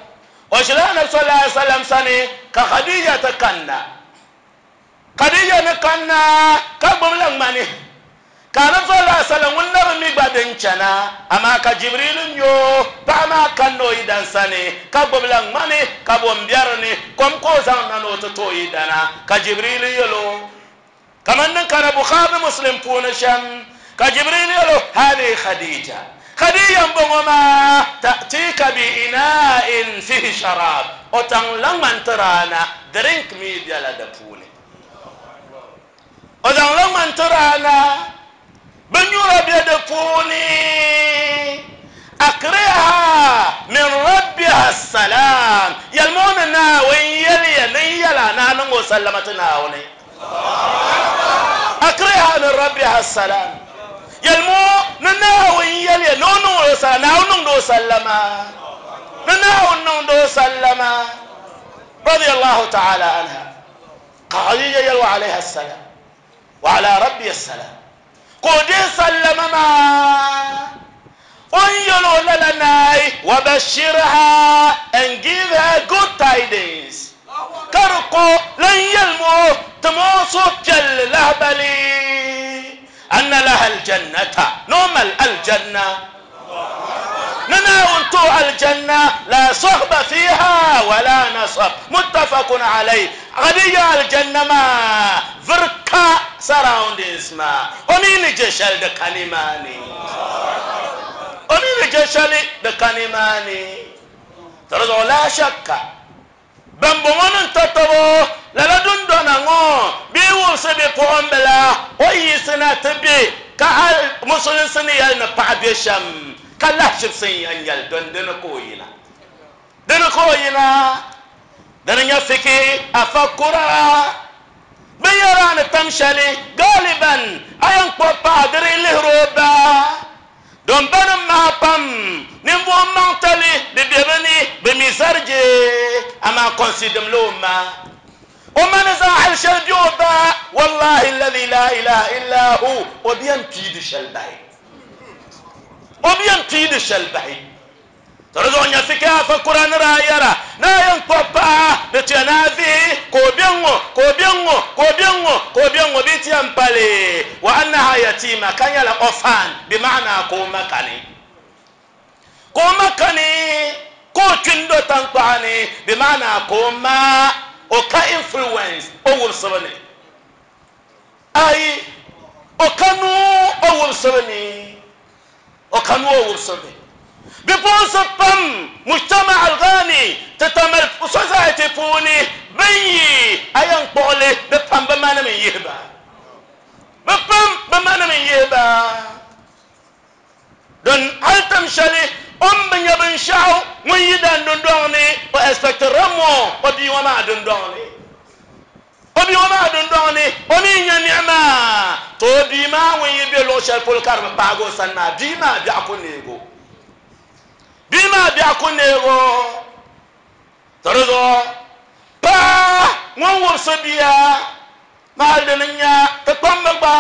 o ʒila Anabi sallallahu alaihi wasallam sani ka Khadija ti kanna. Khadija ni kanna ka gbubila ŋmani, ka Anabi sallallahu alaihi wasallam ŋun na bi mi gba din chana, amaa ka Jibrilu nya o paɣa maa kanna o yidan sani ka gbubila ŋmani ka bo m-be di ni kom ka o zaŋ na ni o ti ti o yidana, ka Jibrilu yɛl o, Kaman din kana Bukhari ni Muslim puuni shɛm, ka Jibrilu yɛl o, Hadhihi Khadija, Khadija m-bɔŋɔ maa, ta'tika bi ina'in fihi sharab, o taŋla ŋmani tiri a na, drink mi bela di puuni. O zaŋla ŋmani tiri a na, binnyura be di puuni. Akriha min rabbiha salam, yɛlimi o ni Naawuni yɛliya ni n yɛl a ni a niŋ o sallama ti Naawuni. Akriha min rabbiha salam, yɛlimi o ni Naawuni yɛliya ni o niŋ o sallama, Naawuni niŋdi o sallama, ni Naawuni niŋdi o sallama. Radiyallahu ta'ala anha. Ka Khadija yɛli wa alayha salam. Wa ala rabbiya salam, ka o deei sallama maa o ni yɛl o lala naai, wa bashirha, and give her good tidings, ka di ko lan yɛlim o, tim o suhupiɛlli lahibali, anna laha aljannata, ni o mali aljanna. Ni Naawuni ti o aljanna, la sahba fiha wala nasab, muttafaqun alayhi. Khadija aljanna maa viri ka surroundings maa, o mi ni je shɛli di ka nimaani, o mi ni je shɛli di ka nimaani. To di zuɣu la shakka Bɛmbɔŋɔ ni tatabo lala dundɔna ŋɔ bee wumsi bipuɣimbila o yiɣisi na ti be ka hal musulinsi ni yɛli ni paɣa be shɛm ka lahiʒibisi n-yɛn nyɛli dɔni dini ka o yina. Dini ka o yina. Dini n-nyɛ fikihi afakura. Binyɛra ni tam shɛli galiban a yɛn kpuɣi paɣa di di lihiri o ba don ba nim maa pam ninvuɣu maŋtali bi bɛ bi ni bi mi zarije amaa kɔnsidimla o ma o ma ni zaŋ hali shɛli bɛ o ba wallahi alladhi la ilaha illa hu o bi yɛn pii di shɛli bahi o bi yɛn pii di shɛli bahi. To di zuɣu nya fika afa kura ni daa yɛra ni a yɛn kpuɣi paɣa di tuya ni a vihi ka o be ŋ-ŋɔ, ka o be ŋ-ŋɔ, ka o be ŋ-ŋɔ, ka o be ŋ-ŋɔ bee ti yɛn pali wa annaha yatiima ka nyɛla orphan bi maana ka o ma kani ka o ma kani ka o kpi n-do taŋkpaɣu ni bi maana ka o ma o ka influence o wubisibu ni ayi o ka nuu o wubisibu ni. O ka nuu o wubisibu ni. Bipuɣinsi pam mujtama al-ghani ti tamal society puuni bɛn yi a yɛn kpuɣi li bɛ pam bɛ manim n-yihi ba. Bɛ pam bɛ manim n-yihi ba. Don hali tim shɛli o ni bi nya binshɛɣu ŋun yi dan dundɔŋ ni o expect more o bia ŋɔ maa dundɔŋ ni. O bia ŋɔ maa dundɔŋ ni, o mi nya niɣima, to o bia maa ŋun yi be luɣ shɛli polo ka di bi paagi o sani maa, bia maa biɛɣu ku neeg o. Bia maa biɛɣu ku neeg o. To di zuɣu paɣa ŋun wubisi bia maa hal di ni nya ti kpamba gba,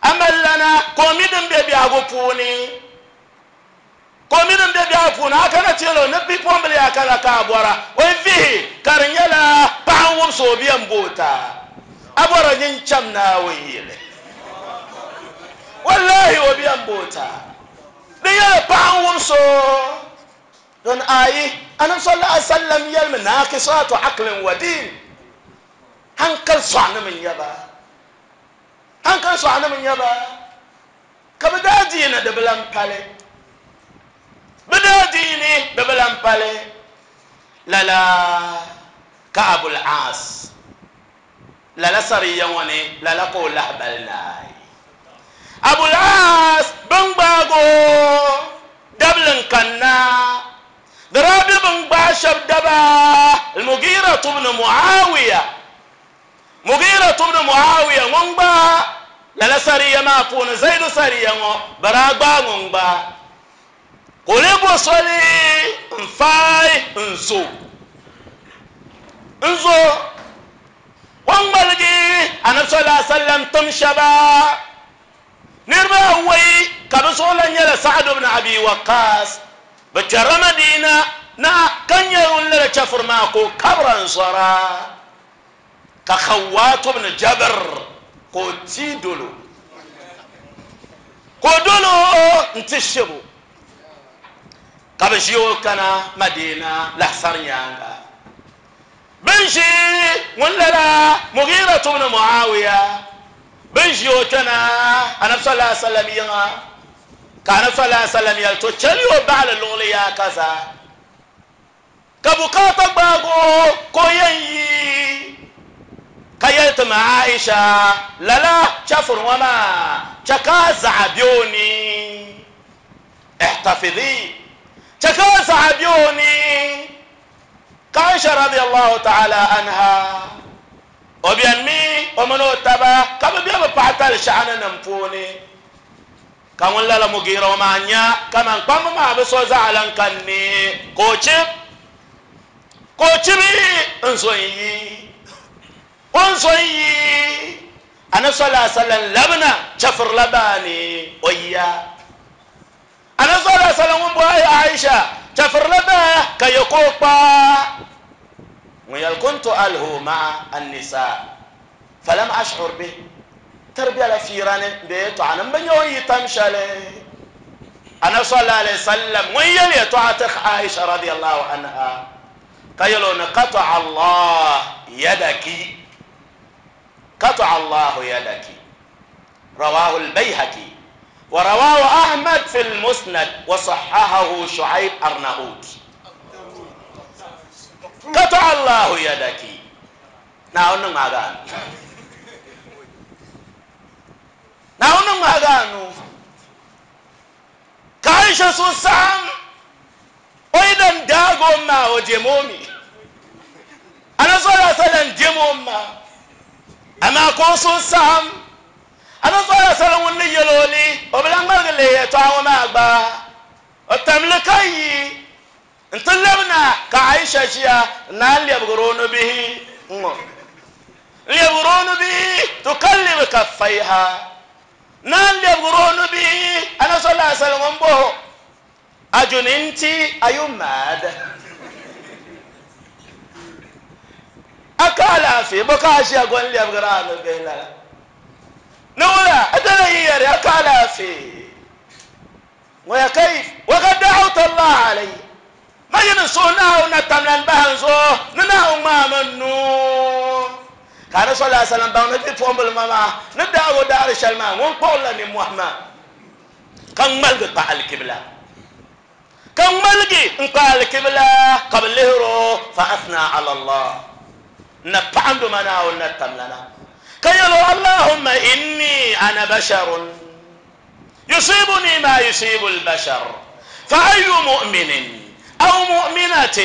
a malilana ka o mi din be biɛhigu puuni. Ka o mi din be biɛhigu puuni, a kana ti yɛl o ni bipuɣimbila yaa kana ka a bɔra, o yi vihi ka di nyɛla paɣa n-wubisi o bia m-bo o ta, a bɔra nyin cham Naawuni yili. Wallahi o bia m-bo o ta. Di nyɛla paɣa n-wubisi o. Don ayi, Anabi sallallahu alaihi wasallam yɛlimi, Naaqisatu aqlin wa diin, hankali sɔɣinim n-nyɛ ba. Hankali sɔɣinim n-nyɛ ba. Ka bɛ daa diini di bi lan pali. Bɛ daa diini di bi lan pali. Lala ka Abul Aas lala sariya ŋɔ ni, lala ka o lahibali naai. Abul Aas bɛn gbaag o dabili n-kanna. Di daa be bɛn gbaai shɛb daba Al-Mughira ibn Muawiya. Mughira ibn Muawiya ŋun gba lala sariya maa puuni Zaidu sariya ŋɔ bɛ daa gbaai ŋun gba ka o lee bo soli n-faai n-zo n-zo o ni ŋmaligi Anabi sallallahu alaihi wasallam tim shɛba niriba awɔi ka bɛ zuɣu lan nyɛla Sa'ad ibn Abi Waqqas bɛ kpɛrila Madina na ka nya ŋun lala chɛfuri maa ka o kabira n-zɔra. Ka Khawwat ibn Jabr ka o ti dolo, ka o dolo n-ti shibu, ka bɛ ʒi o kana Madina lahisari nyaaŋa. Bɛ ni ʒi ŋun lala Mughira ibn Muawiya, bɛ ni ʒi o kpɛna Anabi sallallahu alaihi wasallam yiŋa, ka Anabi sallallahu alaihi wasallam yɛli, To chɛli o baɣili luɣili yaa kaza. Ka bukaata gbaag o ka o yɛn yi, ka yɛli ti ma Aisha, Lala chɛfuri ŋɔ maa chɛ ka a zaɣa be o ni. Ihtafidhi, chɛ ka a zaɣa be o ni. Ka Aisha radiyallahu ta'ala anha, o benimi o mini o taba ka bɛ be bɛ paɣatali shɛɣuni nim puuni. Ka ŋun lala Mugira ŋɔ maa nya kaman kpamba maa bi so zaɣa lan kani ni ka o chib, ka o chibi n-zo n-yi. O ni zo n-yi Anabi sallallahu alaihi wasallam labina chɛfirila baani o yiya. Anabi sallallahu alaihi wasallam ŋun bɔhi Aisha chɛfirila baa ka yɛ ka o kpa ŋun yɛli kuntu alhu ma'a an-nisa falam ash'ur bih tiri bela fiira ni bee yɛtɔɣa ni m-bi nya o ni yi tam shɛli. Anabi sallallahu alaihi wasallam ŋun yɛli yɛtɔɣa ti Aisha radiyallahu anha ka yɛli o ni qata'a Allah yadaki, qata'a Allahu yadaki, rawahu al-Bayhaqi wa rawahu Ahmad fi al-Musnad wa sahhahahu Shu'aib Arnaut. Qata'a Allahu yadaki. Naawuni ni ŋmaagi a nuu. Naawuni ni ŋmaagi a nuu. Ka Aisha suhu saɣim o yi dan daagi o ma o dim o mi. Anabi sallallahu alaihi wasallam dim o ma. Amaa ka o suhu saɣim. Anabi sallallahu alaihi wasallam ŋun ni yɛl o li, o bi lan ŋmaligi lihi yɛtɔɣa ŋɔ maa gba. O tam li ka yi nti labina ka Aisha ʒiya n-naan lɛbigir o nubihi ŋ-ŋɔ. N-lɛbigir o nubihi tukallibu kaffaiha. Naan lɛbigir o nubihi Anabi sallallahu alaihi wasallam ŋun bɔh o, Ajuninti, are you mad? A ka alaafee, bɔ ka a ʒiya go n-lɛbigir a nubihi lala? Ni wula, a dala yi yɛri a ka alaafee. Ŋɔ ya kayf wa kad da'awta Allah alayya, ma yi ni suhi Naawuni na tamlan bahi n zuɣu ni Naawuni ŋmaai ma nuu. Ka Anabi sallallahu alaihi wasallam baŋ ni bipuɣimbila ŋɔ maa ni daag o daɣiri shɛli maa ŋun kpuɣirila nimmohi maa, ka ŋmaligi kpa alikibla, ka ŋmaligi n-kpa alikibla ka bɛ lihir o, fa athna ala Allah, n na paɣindo ma Naawuni na tamlana, ka yɛl o, Allahumma inni ana basharun. يصيبني ما يصيب البشر فأي مؤمن أو مؤمنة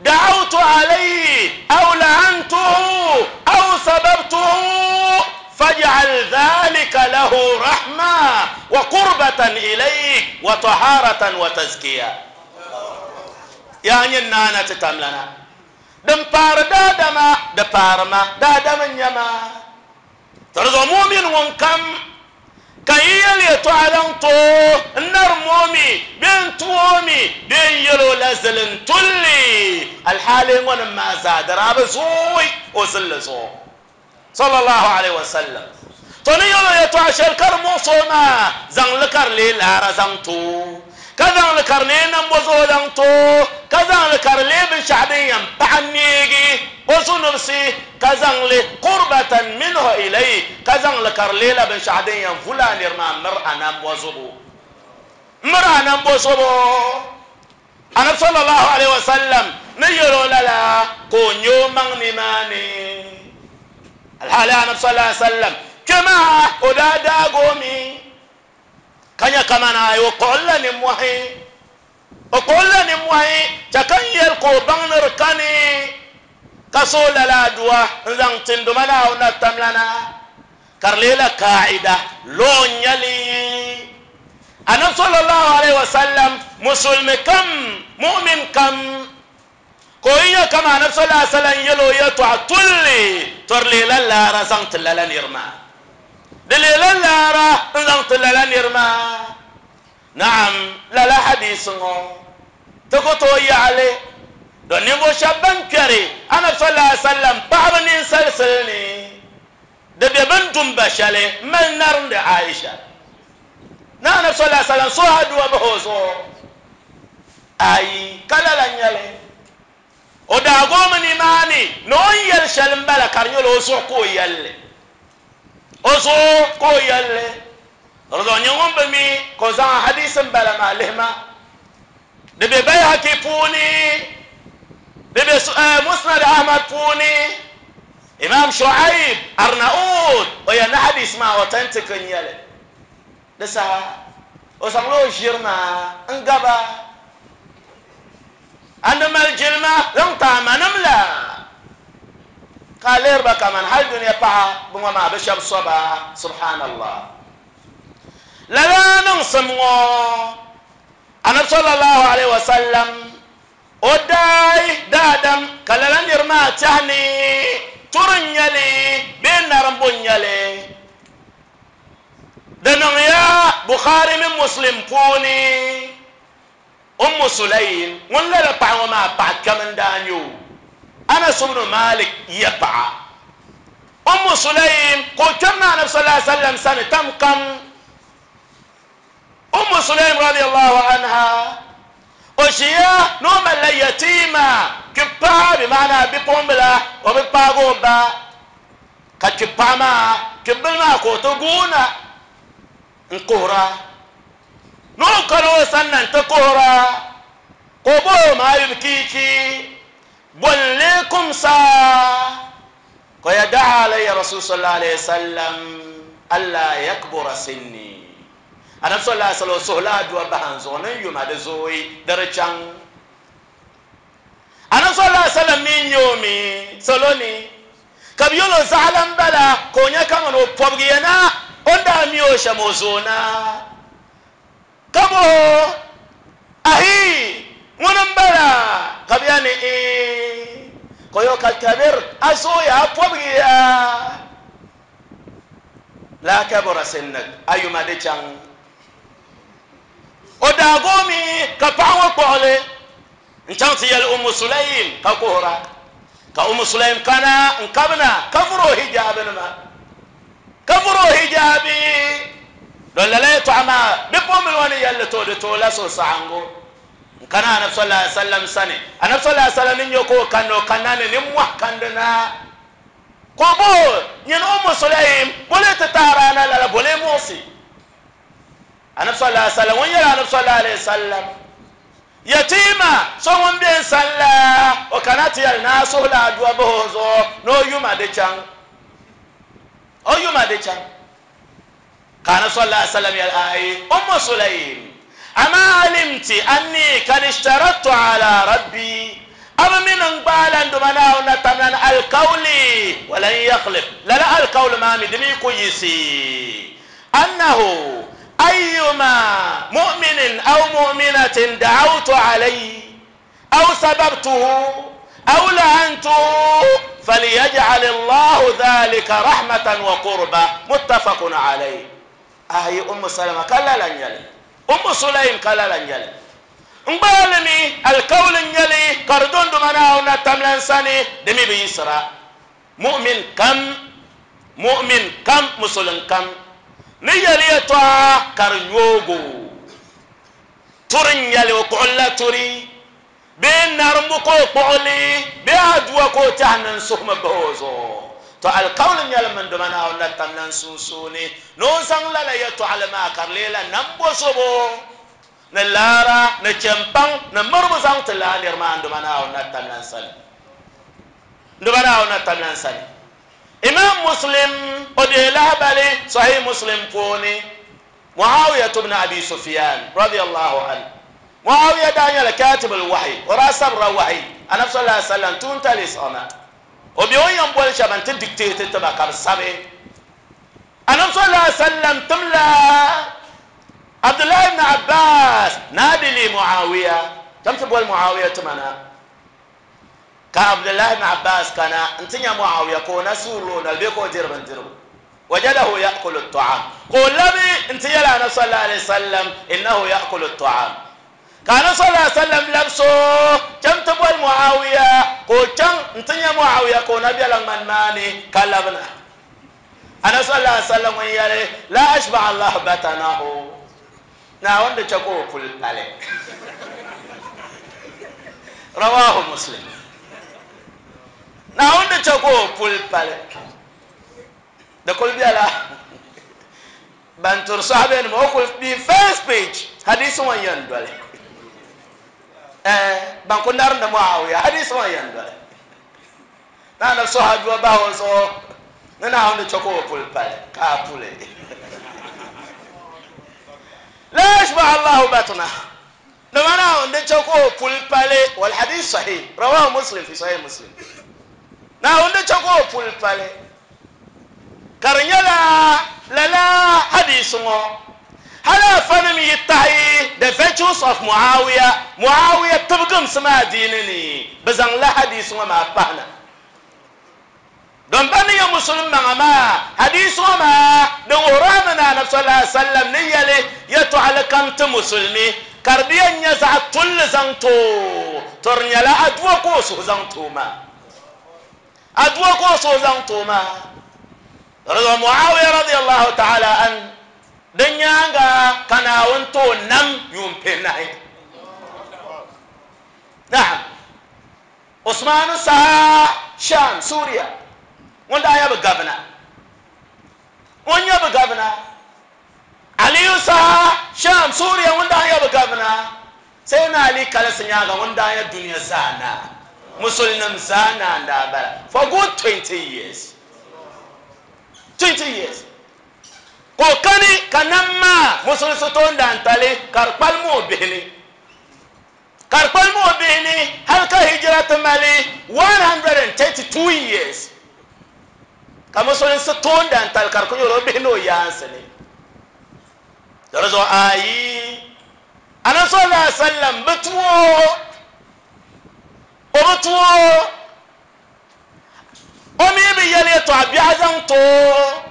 دعوت عليه أو لعنته أو سببته فاجعل ذلك له رحمة وقربة إليك وطهارة وتزكية يعني نانا تتملنا دم بار دادما دبارما دادما نيما Tɔrɔzɔ mumin ŋun kam ka yi yɛli yɛtɔɣa zaŋ ti o n-narim o mi bee n-tu o mi bee n-yɛl o la zilintulli, alhaali ŋɔnim maa zaa di daa bi zooi o zilli zuɣu. Sallallahu alaihi wasallam. Tɔ ni yɛl o yɛtɔɣa shɛli ka di muɣis o maa, zaŋ li ka di leei laara zaŋ ti o, ka zaŋ li ka di leei nambɔzɔɔ zaŋ ti o, ka zaŋ li ka di leei binshɛɣu din yɛn paɣi neegi o zunubsi, ka zaŋ li, qurbatan minhu ilayh, ka zaŋ li ka di leela binshɛɣu din yɛn vuli a niri maa miri a nambɔzobo. Miri a nambɔzobo. Anabi sallallahu alaihi wasallam ni yɛl o lala ka o nya o maŋ nimaani. Alhaali Anabi sallallahu alaihi wasallam kpe maa o daa daag o mi ka nya kaman ayi o kpuɣilila nimmohi. O kpuɣilila nimmohi chɛ ka n yɛli ka o baŋ ni di kani ka so lala adua n-zaŋ ti n Duuma Naawuni na tamlana, ka di leela kaida lɔɔ n-nyɛ li. Anabi sallallahu alaihi wasallam musulmi kam, mu'min kam, ka o yi nya kaman Anabi sallallahu alaihi wasallam yɛl o yɛtɔɣa tulli, tɔ di leela laara zaŋ ti lala niri maa. Di leela laara n-zaŋ ti lala niri maa. Naam, lala hadiisi ŋɔ ti ku tooi yaɣi li, don ninvuɣ shɛba ban kpɛri Anabi sallallahu alaihi wasallam paɣaba ninsalisili ni di be bɛ ni dum ba shɛli m-mali narindi Aisha ni Anabi sallallahu alaihi wasallam suhi aduwa bahi o zuɣu. Ayi, ka lala n-nyɛ li. O daa goomi nimaani ni o ni yɛli shɛli m-bala ka di nyɛla o zuɣu ka o yɛli li. O zuɣu ka o yɛli li. Di zuɣu nyɛ ŋun bi mi ka o zaŋ ahadiisi m-bala maa lihi ma. Di be Bayhaqi puuni, di be Musnad Ahmad puuni, Imam Shu'aib Arnaud o yɛli ni hadiisi maa authentic n-nyɛ li. Di saha o zaŋla o ʒiri maa n-gaba A ni mali jilima zaŋ ti a manim la, ka a lihiri ba kaman hal dunia paɣa bi ŋɔ maa bi shɛb so ba. Subhanallah! Lala niŋsim ŋɔ, Anabi sallallahu alaihi wasallam o daai daadam ka lala niri maa tɛhi ni turi n-nyɛ li bee narimbu n-nyɛ li. Di niŋya Bukhari mini Muslim puuni. Ummu Sulaym ŋun lala paɣa ŋɔ maa paɣa kpɛm n-daa nyɛ o, Anas ibn Malik ya paɣa. Ummu Sulaym ka o kpɛrina Anabi sallallahu alaihi wasallam sani tam kam. Ummu Sulaym radiyallahu anha o ʒiya ni o malila yatiima kpipaɣa bi maana bipuɣimbila o bi paagi o ba ka kpipaɣa maa kpibili maa ka o ti guuna n-kuhira. Ni o kani o sanna nti kuhira, ka o bɔh o, Maa yubkiiki? Bɔ n-lee kumsa? Ka o ya daa alayya Rasul sallallahu alayhi wasallam alla yakbura sinni. Anabi sallallahu alayhi wasallam o suhila adua bahi n zuɣu ni n yuma di zooi di di chaŋ. Anabi sallallahu alayhi wasallam mi n-nyɛ o mi salo ni. Ka bɛ yɛl o, Zaɣila m-bala ka o nya kaman o pɔbigiya na o ni daa mi o shɛm o zooi na. Ka bɔh o, Ahi! Ŋuni m-bala? Ka bɛ yɛli ni, Iin. Ka o yɛl o, Ka kabir, a zooya, a pɔbigiya. Laa kabura sinnik, a yuma di chaŋ. O daa goomi ka paɣa ŋɔ kpuɣi li n-chaŋ ti yɛli Ummu Sulaim ka kuhira. Ka Ummu Sulaim kana n-kabina ka vuri o hijaabinima, ka vuri o hijaabi. Don lala yɛtɔɣa maa bipuɣimbila ŋɔ ni yɛli li to di tooi la suhusaɣiŋgu n-kana Anabi sallallahu alaihi wasallam sani. Anabi sallallahu alaihi wasallam ni nya ka o kanna, o kanna ni nimmɔhi kandi na. Ka o bɔh o, Nyini Ummu Sulaim, boli ti tahiri a na lala, boli muɣisi? Anabi sallallahu alaihi wasallam ŋun yɛli Anabi sallallahu alaihi wasallam, Yatiima so ŋun be n sani la, o kana ti yɛli ni a suhila adua bahi o zuɣu ni o yuma di chaŋ. O yuma di chaŋ. Ka Anabi sallallahu alaihi wasallam yɛli, Aai, Ummu Sulaim, ama alimti anni kad ishtarattu ala Rabbi, a bi mi ni n gbaala n Duuma Naawuni na tamlan alikauli, walan yakhlif, lala alikauli maa mi di mi ku yiɣisi. Annahu ayyuma mu'minin aw mu'minatin da'awtu alayhi aw sababtuhu aw la'antuhu falyaj'al Allahu dhalika rahmatan wa qurba muttafaqun alayhi. Ayi Ummu Salama ka lala n-nyɛ li, Ummu Sulaim ka lala n-nyɛ li. N gbaali mi alikauli n-nyɛ li ka di dondoma Naawuni na tamla n sani, di mi bi yiɣisira. Mu'min kam, mu'min kam, musulin kam ni yɛli yɛtɔɣa ka di nyoogi o, turi n-nyɛ li, o kpuɣili la turi, bee narimbu ka o kpuɣi li, bee aduwa ka o tɛhi ni n suhimi bahi o zuɣu. Tɔ! Alikauli n-nyɛ li mini doma Naawuni la tamla n sunsuuni ni o zaŋ lala yɛtɔɣili maa ka di leela nambozobo ni laara ni chɛmpaŋ ni miribu zaŋ ti lala niri maa n doma Naawuni la tamla n sani. N-duba Naawuni na tamla n sani. Imam Muslim o deei lahabali Sahih Muslim puuni, Muawiyatu bni Abi Sufyan radiyallahu anhu, Muawiya daa nyɛla katibul wahi, o daa sabirila wahi Anabi sallallahu alaihi wasallam tuuntali siɣima. O be o ni yɛn boli shɛba n-ti dictate ti ba ka bɛ sabi. Anabi sallallahu alaihi wasallam timla Abdullahi ibn Abbas naadi li Muawiya, cham ti boli Muawiya tima na. Ka Abdullahi ibn Abbas kana nti nya Muawiya ka o na suurili o noli bee ka o diri bindirigu. Wajadahu ya'kulu at-ta'am. Ka o labi nti yɛli Anabi sallallahu alayhi wa sallam, innahu ya'kulu at-ta'am. Ka Anabi sallallahu alayhi wa sallam labisi o chaŋ ti boli Muawiya, ka o chaŋ nti nya Muawiya ka o na bela ŋmani maa ni ka labina. Anabi sallallahu alayhi wa sallam ŋun yɛli, La ashba'a Allahu batanahu. Naawuni di chɛ ka o puli pali. Rawahu Muslim. Naawuni di chɛ ka o puli pali. Di kuli bela ban turi sahabenima o kuli bi first page hadisi ŋɔ n-yɛn doli. Eh, ban ku narindi Muawiya hadisi ŋɔ n-yɛn doli. Ni anabi suhi adua bahi o zuɣu ni Naawuni di chɛ ka o puli pali ka a puli. La yashba Allahu batna. Dama Naawuni di chɛ ka o puli pali. Wal hadith sahih rawahu Muslim fi sahih Muslim. Naawuni di chɛ ka o puli pali. Ka di nyɛla lala hadisi ŋɔ hali afanim yi tahi The Virtues of Muawiya, Muawiya tibigimsim adiini ni, bɛ zaŋla hadisi ŋɔ maa pahi na. Don ba ni nyɛ Musulim maŋa maa, hadisi ŋɔ maa di wuhiri a mi ni Anabi sallallahu alaihi wasallam ni yɛli yɛtɔɣili kam ti Musulimi ka di bi yɛn nyɛ zaɣ tulli zaŋ ti o, to di nyɛla adua ka o suhu zaŋ ti o maa. Adua ka o suhu zaŋ ti o maa. Di Muawiya radiyallahu ta'ala an, di nyaaŋa ka Naawuni ti o nam yuun pihinahi. Naam. Usmanu saha Sham, Suria, ŋun daa nyɛ bɛ gavina. Ŋun nyɛ bɛ gavina. Aliyu saha Sham, Suria, ŋun daa nyɛ bɛ gavina. Sayyidina Ali kalisi nyaaŋa ŋun daa nyɛ dunia zaa naa, Musulinim zaa naa n-daa bala for good 20 years. 20 years. Ka o kani ka nam maa Musulinsi toondaantali ka di kpalim o bihi ni. Ka di kpalim o bihi ni hali ka hijira ti mali 132 years. Ka musulinsi toondan tali ka di ku nyɛla o bihi ni o yaansi ni. Di zuɣu ayi Anabi sallallahu alaihi wasallam bi tu o, o bi tu o, o mi bi yɛli yɛtɔɣa biɛɣu zaŋ ti o,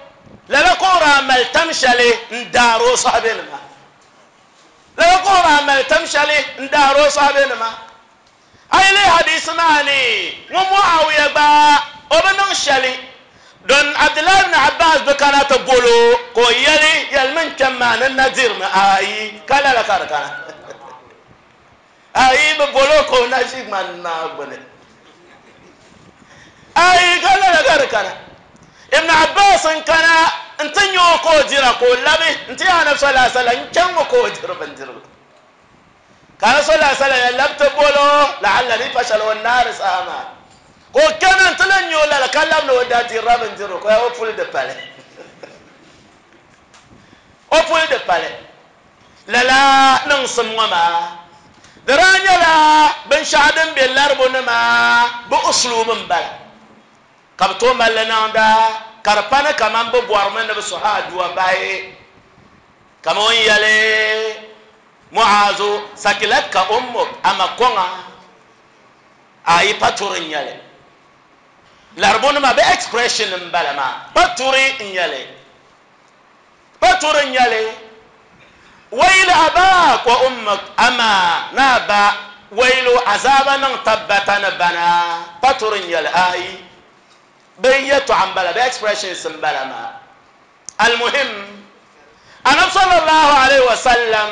lala ka o daa mali tam shɛli n daari o sahabenima. Lala ka o daa mali tam shɛli n daari o sahabenima. A yi lihi hadisi maa ni, ŋun Muawiya gba o bi niŋ shɛli don Abdullahi ibn Abbas bi kana ti bol o ka o yɛli, Yɛlimi n kpɛm maa ni na dirimi. Ayi, ka lala ka di kana. Ayi, bi bol o ka o na ʒi ŋmani maa gbuni. Ayi, ka lala ka di kana. Ibn Abbas n kana n ti nya o ka o dira ka o labi n ti Anabi sallallahu alaihi wasallam n chaŋ ŋɔ ka o diri bindirigu. Ka Anabi sallallahu alaihi wasallam ya labi ti bol o, la'alla di pa shɛli o naari saha maa ka o kana n ti lan nya o lala ka labi ni o daa dirila bindirigu ka o puli di pali. O puli di pali. Lala niŋsim ŋɔ maa di daa nyɛla binshɛɣu din be laribu nima bɛ usluub m-bala ka bɛ tooi mali li niŋda ka di pa ni kaman bɛ bɔrimi ni bɛ suhi aduwa bahi. Kaman o ni yɛli Mu'azu, Sakilatka ummuk, a ma kɔŋa, a yi pa turi n-nyɛ li. Laribunima bɛ expression m-bala maa, pa turi n-nyɛ li. Pa turi n-nyɛ li. Wayli abaak wa ummuk, amaa ni a ba waylu azaaba niŋ tabbata ni bana, pa turi n-nyɛ li. Ayi, bɛ yɛtɔɣa m-bala, bɛ expressions m-bala maa. Almuhim, Anabi sallallahu alaihi wasallam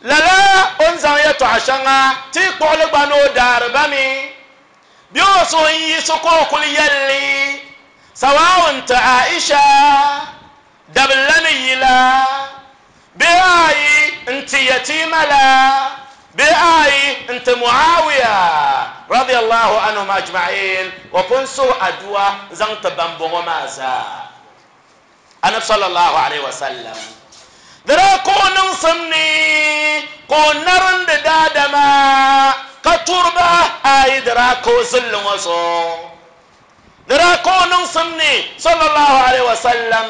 lala o ni zaŋ yɛtɔɣa shɛŋa ti kpuɣili gba ni o daari ba mi, bɛ o suhu n-yiɣisi ka o kuli yɛli li, sawa'un ti Aisha dabili la ni yi la, bee ayi n-ti yatiima la, bee ayi n-ti Muawiya radiyallahu anhum ajma'in, o pun suhi aduwa zaŋ ti bambɔŋɔ maa zaa. Anabi sallallahu alaihi wasallam di daa ka o niŋsim ni ka o narindi daadama ka turi ba, ayi di daa ka o zilli ŋɔ zuɣu. Di daa ka o niŋsim ni sallallahu alaihi wasallam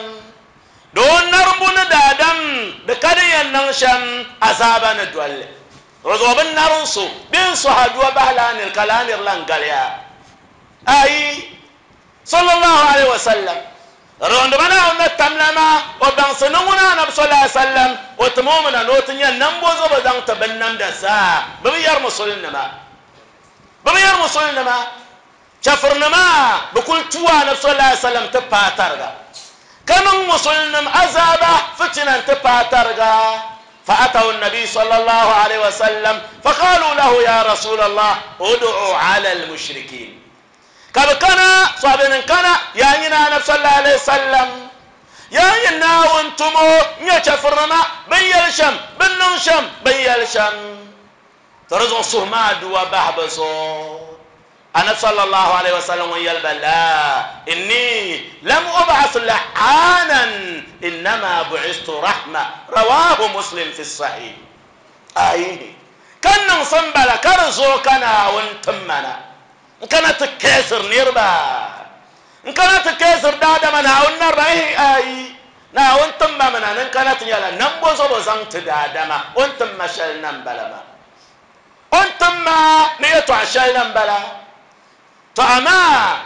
di o narimbu ni daadam di ka di yɛn niŋ shɛm azaaba ni dolli. Di zuɣu bi narim so bee n-suhi aduwa bahi laa nir ka laa nir lan galiya. Ayi sallallahu alaihi wasallam Rondi ba Naawuni ni tamla maa, o baŋsi ni ŋuna Anabi sallallahu alaihi wasallam o tim o mi na ni o ti nya nambozobo zaŋ ti binnamda zaa. Bɛ bi yɛri musulinima. Bɛ bi yɛri musulinima. Chɛfurinima bi kuli tuui Anabi sallallahu alaihi wasallam ti paai tariga, ka niŋ musulinim azaaba fitina n-ti paai tariga. فأتوا النبي صلى الله عليه وسلم فقالوا له يا رسول الله ادعوا على المشركين كبكنا صابن كان يا نينا النبي صلى الله عليه وسلم يا نينا وانتم نيا شفرنا بن يلشم بن نشم بن يلشم ترزق سهما دوا بحبسو النبي صلى الله عليه وسلم يلبى لا إني لم أبعث لعانا إنما بعثت رحمة رواه مسلم في الصحيح أيه كان نصنبلا كرزو كان وانتمنا كانت تكسر نيربا كانت تكسر دادا من هاون نربا أي نا وانتم منا كانت يلا نمبوزو بزنت دادا ما وانتم مشل نمبلا وانتم ما نيتو عشان نمبلا فأما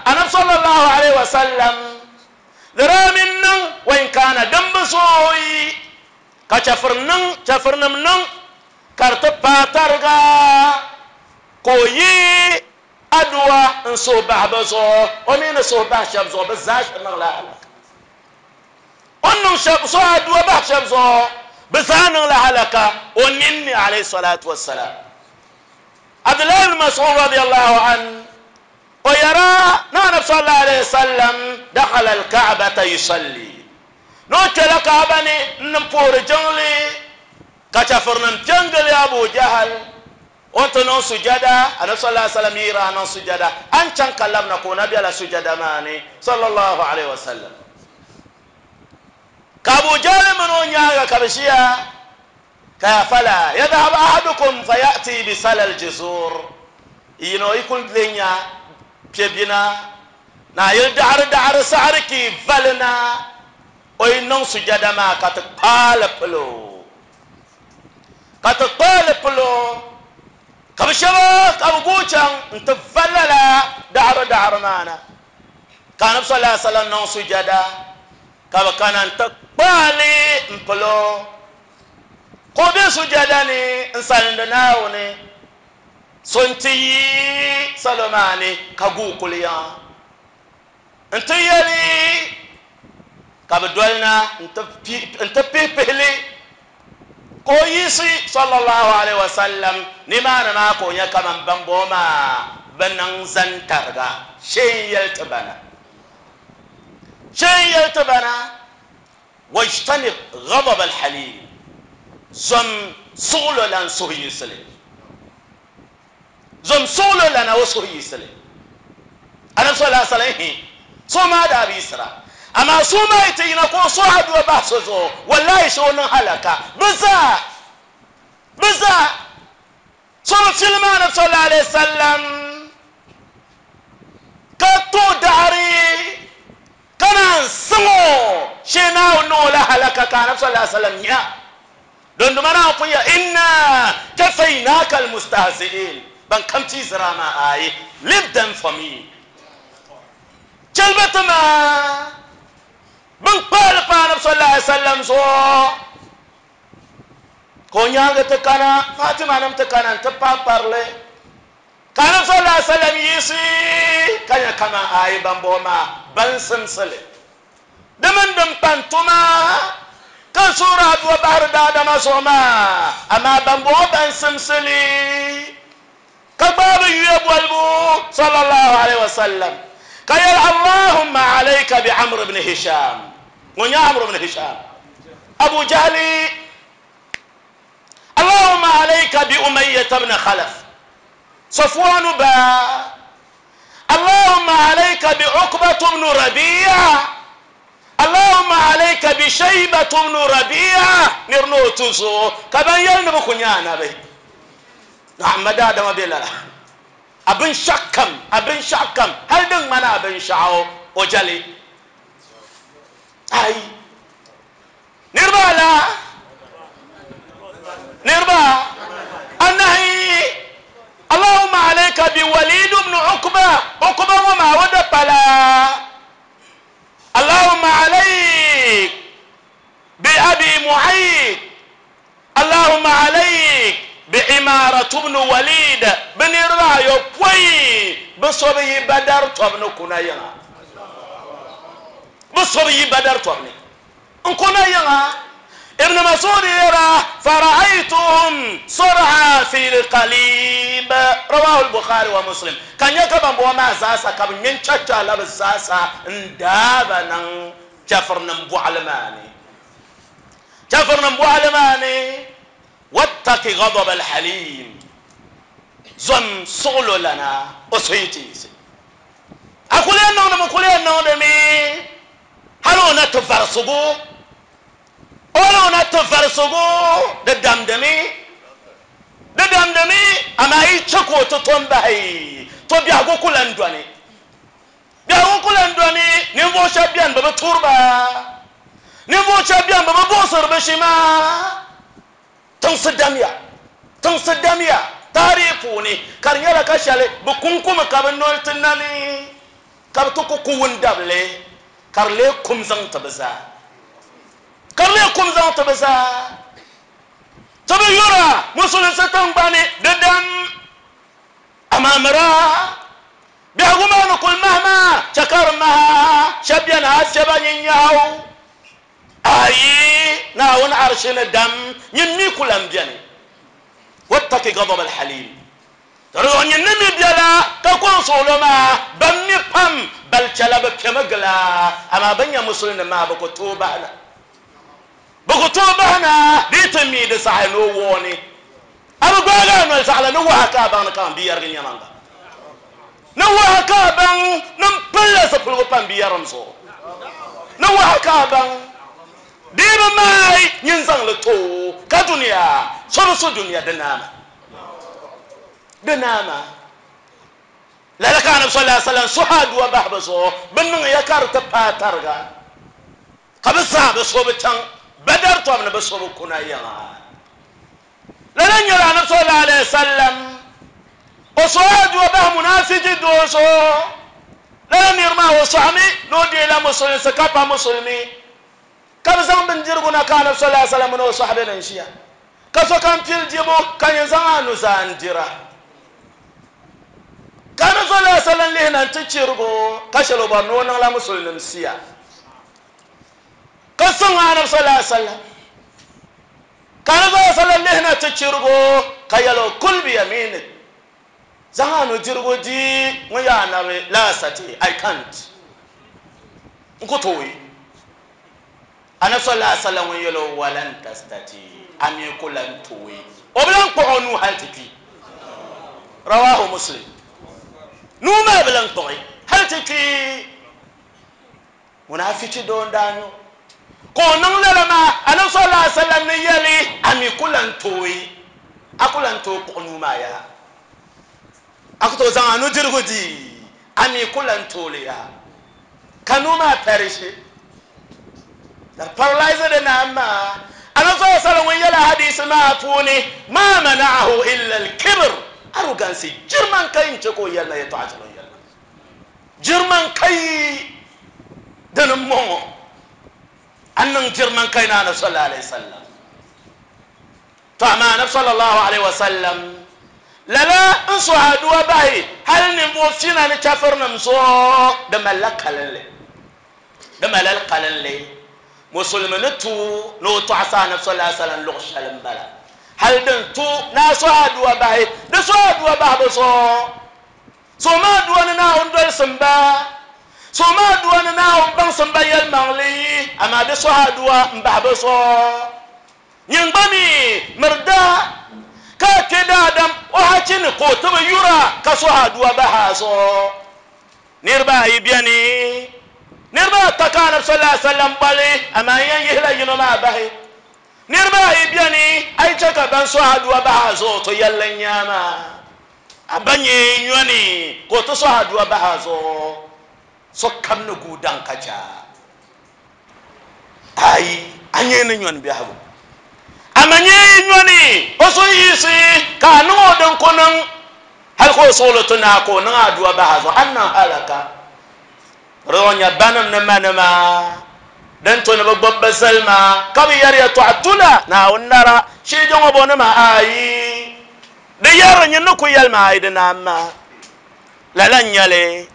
أنا صلى الله عليه وسلم درامن وإن كان دمبسوي كشفرنن شفرنم كرتبا ترغا كوي أدوى نصوبة بزو ومين صوبة شبزو بزاش نغلا هلك أنه شبزو أدوى بحشبزو بزان نغلا هلك ونني عليه الصلاة والسلام عبد الله بن مسعود رضي الله عنه ويرى نبي صلى الله عليه وسلم دخل الكعبة يصلي نوتي لكعبة نمبور جنلي كشفرنا جنجل أبو جهل وانت نون سجدا النبي صلى الله عليه وسلم يرى نون سجدا أنشان كلمنا كون نبي على سجدا ماني صلى الله عليه وسلم كأبو جهل من ونيا كبشيا كفلا يذهب أحدكم فيأتي بسل الجزور ينو يكون لنيا بيبينا Na yili daɣiri daɣiri saɣiri ka yi vali na, o yi niŋ sujada maa ka ti kpaali pili o. Ka ti kpaali pili o, ka bi shɛba ka bi guui chaŋ n-ti va lala daɣiri daɣiri maa na. Ka Anabi sallallahu alaihi wasallam niŋ sujada, ka bi kana n-ti kpaali m-pili o. Ka o be sujada ni n-salindi Naawuni. So nti yi salo maa ni ka guui kuli yiŋa nti yɛli ka bɛ doli na nti pihipihi li, ka o yiɣisi sallallahu alaihi wasallam nimaani maa ka o nya kaman bambɔŋɔ maa bi niŋ zani tariga shee n-yɛli ti ba na. Shee n-yɛli ti ba na. Wajtanib ghadab al-halim, zom suɣulo lan suhuyiɣisili, zom suɣulo lana o suhuyiɣisili. Anabi sallallahu alaihi wasallam hi suhu maa daa bi yiɣisira, amaa suhu maa yi ti yina ka o suhi aduwa bahi so zuɣu, wallahi shee o niŋ halaka bɛ zaa, bɛ zaa. So bi filim Anabi sallallahu alaihi wasallam ka tooi daɣiri ka naan siŋ o shee Naawuni niŋ o la halaka ka Anabi sallallahu alaihi wasallam nya. Dondoma Naawuni pun ya inna kafaynaka almustahzi'in ban kam ti zira maa ayi leave them for me chɛli ba ti ma bin kpaali pa Anabi sallallahu alaihi wasallam zuɣu. Ka o nyaaŋa ti kana, Fatima nim ti kana nti paai kparili, ka Anabi sallallahu alaihi wasallam yiɣisi ka nya kaman ayi bambɔŋɔ maa ban simsi li. Di mini din pan tuma ka n suhiri aduwa bahiri daadama zuɣu maa, amaa bambɔŋɔ ban simsi li ka gbaai bɛ yuya bolibu sallallahu alaihi wasallam ka yɛli, Allahumma alayka bi Amr ibn Hisham. Ŋun nyɛ Amr ibn Hisham, Abu Jahli, Allahumma alayka bi Umayyah ibn Khalaf, Safwan ba, Allahumma alayka bi Uqbah ibn Rabi'a, Allahumma alayka bi Shaybah ibn Rabi'a, nir ni o tuzo ka ban yɛli ni bɛ ku nyɛ anabi. Naam, daadama be lala. A binshɛɣu kam, a binshɛɣu kam, hali din ŋmani a binshɛɣu, o jɛli. Ayi. Niriba ala, niriba anahi, Allahumma alayka bi Walid ibn Uqba, Uqba ŋɔ maa o da pala. Allahumma alayk bi Abi Mu'ayt, Allahumma alayk bi Imaratu ibn Walid, bɛ niriba ayopɔin bɛ so bi yi Badar tɔbu ni kuna yiŋa. Bɛ so bi yi Badar tɔbu ni n-kuna yiŋa. Ibn Mas'ud yɛra, Fara'aytuhum sur'a fi al-qalib, rawahu al-Bukhari wa Muslim, ka n nya ka bambɔŋɔ maa zaasa ka bɛ ŋme n-chacha la bɛ zaasa n-daai ba niŋ chɛfirinim bɔɣili maa ni. Chɛfirinim bɔɣili maa ni, Wattaqi ghadab al-halim, zom suɣulo lana o suhu yi ti yiɣisi. A kuli yɛn niŋdimi kuli yɛn niŋdimi hali o na ti varisigu, hali o na ti varisigu di damdimi, di damdimi, amaa yi chɛ ka o ti tom bahi, to biɛhigu ku lan dɔni. Biɛhigu ku lan dɔni, ninvuɣ shɛb bɛn bi bi tuhiri ba, ninvuɣ shɛb bɛn bi bi buɣisiri bɛ shima. Tiŋsi damya, tiŋsi damya taarihi puuni, ka di nyɛla ka shɛli bɛ kuŋkumi ka bɛ noli ti nani, ka bɛ ti ku ku wundabili, ka di leei kum zaŋ ti bɛ zaa, ka di leei kum zaŋ ti bɛ zaa. Ti bi yura musulinsi tiŋgbani di dam, amaa mira biɛhigu maa ni kuli mahi maa, chɛ ka di maha shɛba beni a shɛba nyin nyaɣu. Ayi, Naawuni arshi ni dam, nyin mi ku lan beni. Wattaqi ghadab al-halim. Di zuɣu nyin ni mi bela ka kɔŋ suɣulo maa, ban mi pam bali chɛla bɛ piɛmi gili a, amaa bɛ nya Musulinima maa bɛ ku tooi bahi na. Bɛ ku tooi bahi na di yi ti mi di saɣi ni o wɔɔni. A bi gbaagi a noli zaɣila ni waha ka a baŋ ni kaman bi yɛrigi nyɛmaŋa. Ni waha ka a baŋ ni m pilila zipiligu pa m biɛrim zuɣu. Ni waha ka a baŋ di yi bi maai nyin zaŋ li ti o ka dunia so bi su dunia di naama. Di naama. Lala ka. Ka Anabi sallallahu alaihi wasallam suhi aduwa bahi bɛ zuɣu, bɛ niŋ ya ka di ti paai tariga, ka bɛ zaa bi so bi chaŋ Badar tɔbu ni bɛ so bi kuna yiŋa. Lala n-nyɛla Anabi sallallahu alaihi wasallam o suhi aduwa bahi munafiki doo zuɣu. Lala niri maa o sɔɣimi ni o deela musulinsi ka pa musulimi, ka bɛ zaŋ bindirigu na ka Anabi sallallahu alaihi wasallam mini o sɔhibe ni ʒiya, ka sokam pili dibu ka nyin zaŋ a nuzaa n-dira. Ka Anabi sallallahu alaihi wasallam lihi na nti chirigi o, ka shɛli o bɔri ni o niŋla musulinim siya, ka sɔŋ Anabi sallallahu alaihi wasallam. Ka Anabi sallallahu alaihi wasallam lihi na ti chirigi o, ka yɛli o, Kul biyaminik, zaŋ a nudirigu di ŋun yaa Anabi, la astati, I can't, n ku tooi. Anabi sallallahu alaihi wasallam ŋun yɛli o, Walan tastati, a mi ku lan tooi. O bi lan kpuɣi o nuu hali ti kpi. Rawahu Muslim. Nuu maa bi lan kpuɣi hali ti kpi. Munaafichi doo n-daa nyɛ o. Ka o niŋ lala maa, Anabi sallallahu alaihi wasallam ni yɛli, A mi ku lan tooi, a ku lan tooi kpuɣi nuu maa yaha. A ku tooi zaŋ a nudirigu di, a mi ku lan tooi li yaha. Ka nuu maa perishi. Ka di paralyze di naan maa. Anabi sallallahu alaihi wasallam ŋun yɛli hadiisi maa puuni, Ma mana'ahu illa al-kibr, arrogance, girman kai n-chɛ ka o yɛli ma yɛtɔɣa shɛli o ni yɛli maa. Girman kai dini m-bɔŋɔ, a ni niŋ girman kai ni Anabi sallallahu alaihi wasallam. To amaa Anabi sallallahu alaihi wasallam lala n suhi aduwa bahi hali ninvuɣ fina ni chɛfirinim zuɣu, di malila kalinli. Di malila kalinli. Musulimi ni tu ni o tɔɣisi Anabi sallallahu alaihi wasallam luɣ shɛli m-bala. Hali din tu ni a suhi aduwa bahi, di suhi aduwa bahi bɛ zuɣu. So maa dua ni Naawuni dolsim ba, so maa dua ni Naawuni baŋsim ba yɛlimaŋli, amaa di suhi adua m-bahi bɛ zuɣu. Nyin gba mi miri daa ka a kpe daadam o hachi ni ka o ti bi yura ka suhi adua bahi a zuɣu. Niriba ayi beni, niriba ata ka Anabi sallallahu alaihi wasallam boli, amaa n yɛn yihila yino maa bahi. Niriba ayi beni, a yi chɛ ka ban suhi adua bahi a zuɣu, to yɛlli n-nyɛ a maa. A ba nyɛ nyɔni ka o ti sɔhi aduwa bahi a zuɣu, sokam ni guui daŋ ka chɛ a. Aai, a nyɛ ni nyɔni biɛhigu. A ma nyɛ nyɔni o so yiɣisi ka a niŋ o din ku niŋ hal ka o suɣili ti naai ka o niŋ aduwa bahi a zuɣu, a ni niŋ alaka. Di zuɣu nya banim ni manima din tu ni bɛ gbubi bɛ zilima ka bɛ yɛri yɛtɔɣa tula Naawuni nara shee ŋɔ bo nima aai. Di yɛri nyin ni ku yɛli ma a yi di naan maa. Lala n-nyɛ li,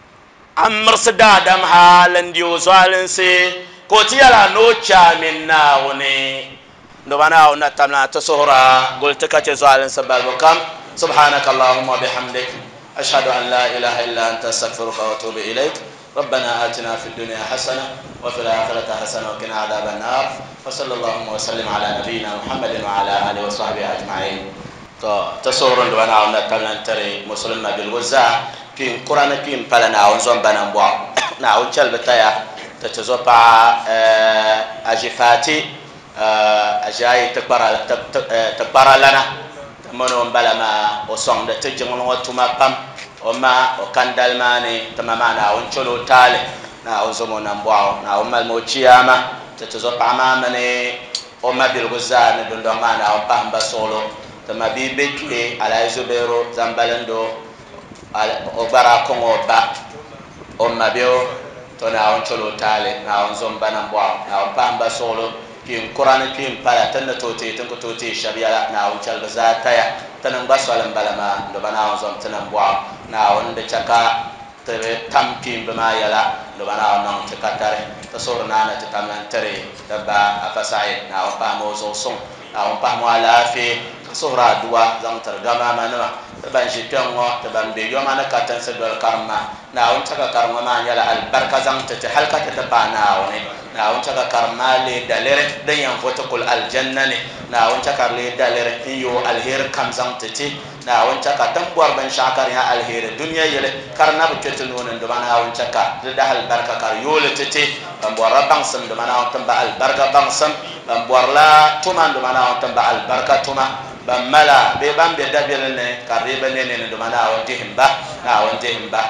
a mirisi daadam hal n-di o zualinsi, ka o ti yɛl a ni o chɛ a mini Naawuni. Nduba Naawuni na tamla ti suhur a guli ti ka chɛ zualinsi balibu kam. Subhanaka Allahumma wa bihamdik, ashhadu an la ilaha illa anta astaghfiruka wa atubu ilayk. ربنا آتنا في الدنيا حسنة وفي الآخرة حسنة وقنا عذاب النار وصلى اللهم وسلم على نبينا محمد وعلى آله وصحبه أجمعين to ti suhuri n duba Naawuni na tabili n-tiri musulin mabiligu zaa kpiin kura ni kpiin pala Naawuni zom ba nambɔɣu Naawuni chɛli bɛ taya ti ti zo paɣa Aʒifaati Aʒiayi tikpara lana ti mini o m-bala maa o sɔŋdi ti jiŋli ŋɔ tuma pam o ma o kandali maa ni ti ma maa Naawuni chɛl o taali Naawuni zom o nambɔɣu Naawuni malimi o chiyaama ti ti zo paɣa maa mini o mabiligu zaa ni dundɔŋ maa Naawuni pahim ba suɣilo ti ma bia be kpe Alhaji Zubairu Zambalindoo o gba daa kɔŋ o ba o ma bɛ o to Naawuni chɛl o taali Naawuni zom ba nambɔɣu Naawuni pahim ba suɣilo kpiin kura ni kpiin pala ti ni tooi teei ti ni ku tooi teei shɛb yɛla Naawuni chɛli bɛ zaa taya ti ni gba soli m-bala maa nduba Naawuni zom ti nambɔɣu Naawuni di chɛ ka ti bi tam kpiimba maa yɛla nduba Naawuni niŋ ti ka tari ti suhuri naa ni ti tam lan tiri ti ba Afa Saeed Naawuni pahimi o zuɣu suŋ Naawuni pahimi o alaafee ka suhuri aduwa zaŋ tiri gamamanima ti ban ʒi kpɛŋŋɔ ti ban be yoma ni katinsi doli karimma Naawuni chɛ ka kariŋɔ maa nyɛla alibarika zaŋ ti ti hali ka ti ti paai Naawuni. Naawuni chɛ ka karim maa leei daliri din yɛn vo ti kuli alijanna ni. Naawuni chɛ ka di leei daliri n-yooi aliheri kam zaŋ ti ti. Naawuni chɛ ka ti ni bɔri binshɛɣu ka di nyɛ aliheri dunia yili ka di na bi kpe ti nuu ni n-duma Naawuni chɛ ka di dahi alibarika ka di yooi li ti ti. Ban bɔrila baŋsim n-duma Naawuni tim ba alibarika baŋsim. Ban bɔrila tuma n-duma Naawuni tim ba alibarika tuma. Ban mala bee ban be dabilim ni ka di dii bi ne nini duma Naawuni dihim ba, Naawuni dihim ba.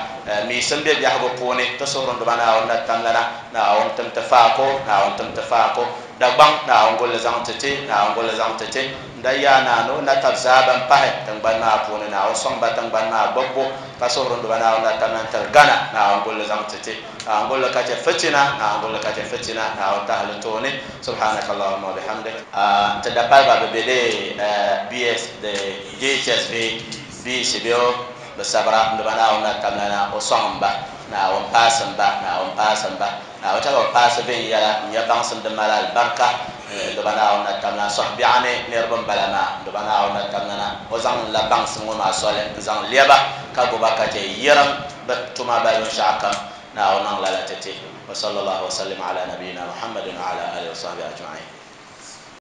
Miisim be biɛhigu puuni, ti suhuri n Duuma Naawuni na tamlana, Naawuni tim ti faako, Naawuni tim ti faako. Dagbaŋ, Naawuni guli li zaŋ ti ti, Naawuni guli li zaŋ ti ti. N da yaa Naa ni o na tab zaa ban pahi tiŋgbani maa puuni, Naawuni sɔŋ ba tiŋgbani maa gbubbu, ka suhuri n Duuma Naawuni na tamlana tiri Ghana, Naawuni guli li zaŋ ti ti. Naawuni guli li ka chɛ fitina, Naawuni guli li ka chɛ fitina, Naawuni tahi li tooni. Subhanaka Allahumma wa bihamdik. Ti dapaliba bi be di BS di JHS bee BC bee o bi sabira n Duuma Naawuni na tamlana o sɔŋ m ba, Naawuni paasi m ba, Naawuni paasi m ba, Naawuni chɛ ka bɛ paasi viɛnyɛla n-nya baŋsim din mali alibarika n Duuma Naawuni na tamlana sɔhibiɛɣu ni niriba m-bala maa n Duuma Naawuni na tamlana o zaŋ la baŋsim ŋɔ maa soli n-zaŋ lɛba ka guba ka chɛ yirim bɛ tuma balibu binshɛɣu kam Naawuni niŋ lala ti ti. Wa sallallahu wa sallim ala nabiyina Muhammadin wa ala alihi wa sahbihi ajma'in.